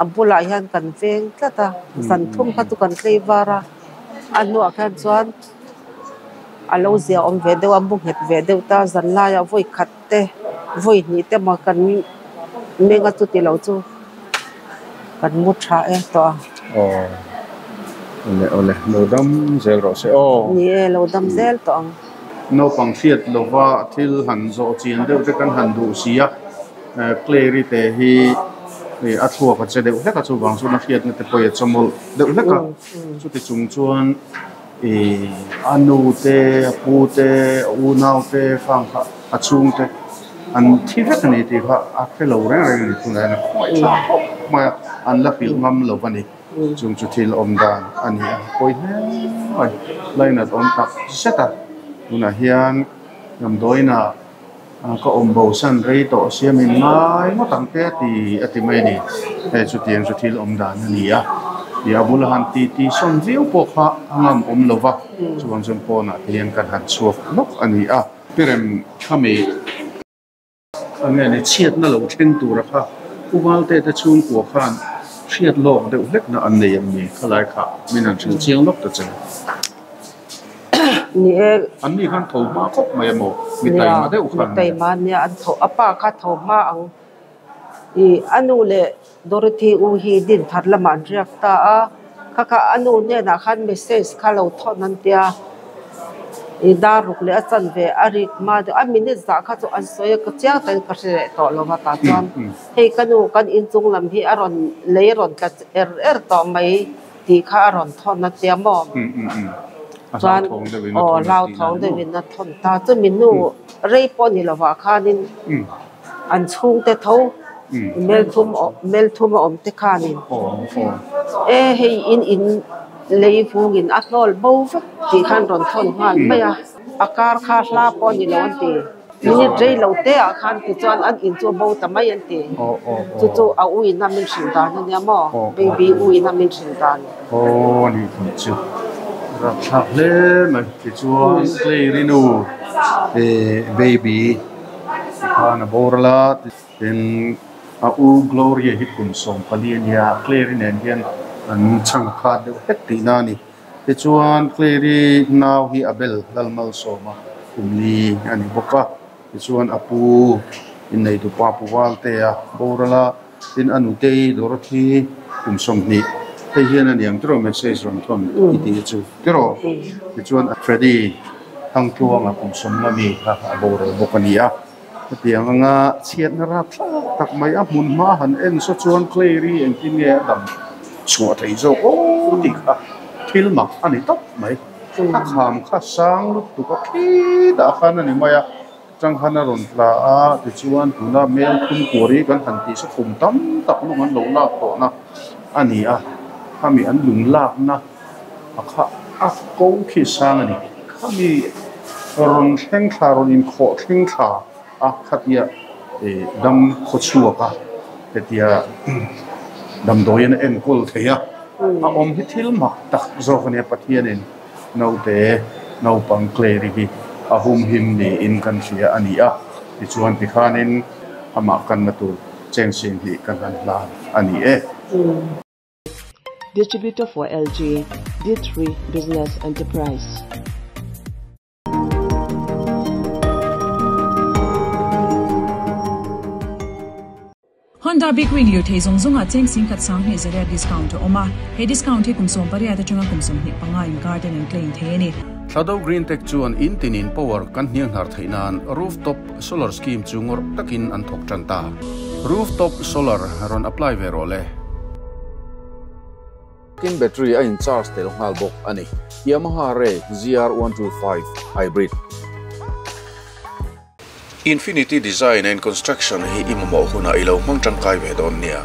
a bulah hian kan veng tlat a. Zan thum kha chu kan tlei var a. A hnuah khan chuan a lo zia awm ve deuh a, mu nghet ve deuh ta. Zan laiah vawi khat te, vawi hnih te maw kan meng a chuti lo chu kan mu tha e tawh a. Aw. Awle awle lo dam zel rawh se aw. Ni e, lo dam zel tawh ang. Naupang hriat lova thil han zawh chian deuh te kan han duh si a, Clary te hi A thluak a che deuh hlek a chuvang chuan a hriatna te pawh a chawmawlh deuh hlek a chuti chung chuan ih a nu te a pu te a unau te fang kha a chhung te an thi vek a ni tih kha a hre lo reng reng a ni tunah hian a khawngaih thlak khawp mai a an la hrilh ngam lo a ni chung chu thil awm dan a ni a pawi hle mai lainat awm tak zet a tunah hian damdawiinah. Ka awm bo san rei tawh siam in ngai ngawt ang te a ti a ti mai a ni. Hei chutiang chu thil awm dan a ni a. Ih a bula han ti ti sawn viau pawh kha a ngam awm lo va, chuvang chuan pawnah te hian kan han chhuak nawk a ni a. Pirem khami a nge ni chhiatna lo thleng tura kha Pu Valte te chhungkua khan hriat lawk deuh hlekna an nei em ni? Khalai kha min han hrilh chiang lawk ta che. Ni e. An ni khan tho hma khawp mai emaw? Mi taima deuh khan. Mi taima nia an tho a pa kha tho hma ang. I a nu leh Dorothy u hi din thar lamah an riak ta a, kha kha a nu hnenah khan message kha lo thawn an tia. I dar ruk leh a chan ve a rik hma deuh a minute zah kha chu an sawi a ka chiang takin ka hre leh tawh lo va tah chuan hei ka nu kan inchung lam hi a rawn lei a rawn tla er er tawh mai. Tih kha a rawn thawn a tia maw? Chuan aw hlauthawng deuhin a thawn ta. Chumi hnu rei pawh ni lovah khanin an chhungte tho melthum melthum a awm te khanin e hei in in lei vungin a hnawl bo vek tih khan rawn thawn nghal mai a. A kar kha hla pawh ni lo an ti. Minute rei lo te ah khan tichuan an in chu a bo ta mai an ti. Chu chu a u in a min hrilh dan a nia maw? Baby u in a min hrilh dan. Aw ni tih chu rapthlak hle mai. Tichuan Claire-i nu baby tikhan a boral a, tin a u Gloria hi kum 14 a nia, Claire-i nen hian an chhang khat deuh hlek tihna a ni. Tichuan Clary nau hi Abel Lalmalsawma kum li a ni bawk a, tichuan a pu inneitu pa Pu Valtea boral a, tin a nutei Dorothy kum 20 hei hian a ni ang tiraw message rawn thawn i tih chu tiraw? Tichuan Freddy Thangtluanga kum 50 mi kha a boral bawk a ni a, hetiang anga chhiatna rapthlak tak mai a hmun hma han en saw chuan Clary engtin nge a dam chhuah thei zawk aw tih kha thil mak a ni tawp mai. A kham kha sang lutuk a khitah khan a ni mai a, changkhan a rawn tla a tichuan tuna mel thum kuari kan han tih saw kum tam tak lung an lo lak tawhna a ni a, khami an lung lakna a kha a ko khi sang a ni. Khami rawn thleng thla rawn inkhawh thleng thla a khatia dam khaw chhuak a hetia damdawiin a enkawl thei a, a awm hi thil mak tak zawk a nia Pathianin naute naupang Clary hi a humhim niin kan hria a ni a, tichuan tikhanin amah kanna tur cheng 20 kan han hlan a ni e. Distributor for LG, D3 Business Enterprise. Honda Big Wing lirthei zawng zawngah cheng 10,000 20 zaria discount a awm a, he discount hi kum 18 atanga kum 25 inkar ten an claim thei a ni. Thlado Green Tech chuan in tinin power kan hnianghnar theih nan rooftop solar scheme chu ngawrh takin an thawk tan ta. Rooftop solar rawn apply ve rawh le. Tin battery a in charge tel nghal bawk a ni. Yamaha Ray ZR125 Hybrid. Infinity Design and Construction hi i mamawh hunah i lo hmang tangkai ve dawn nia.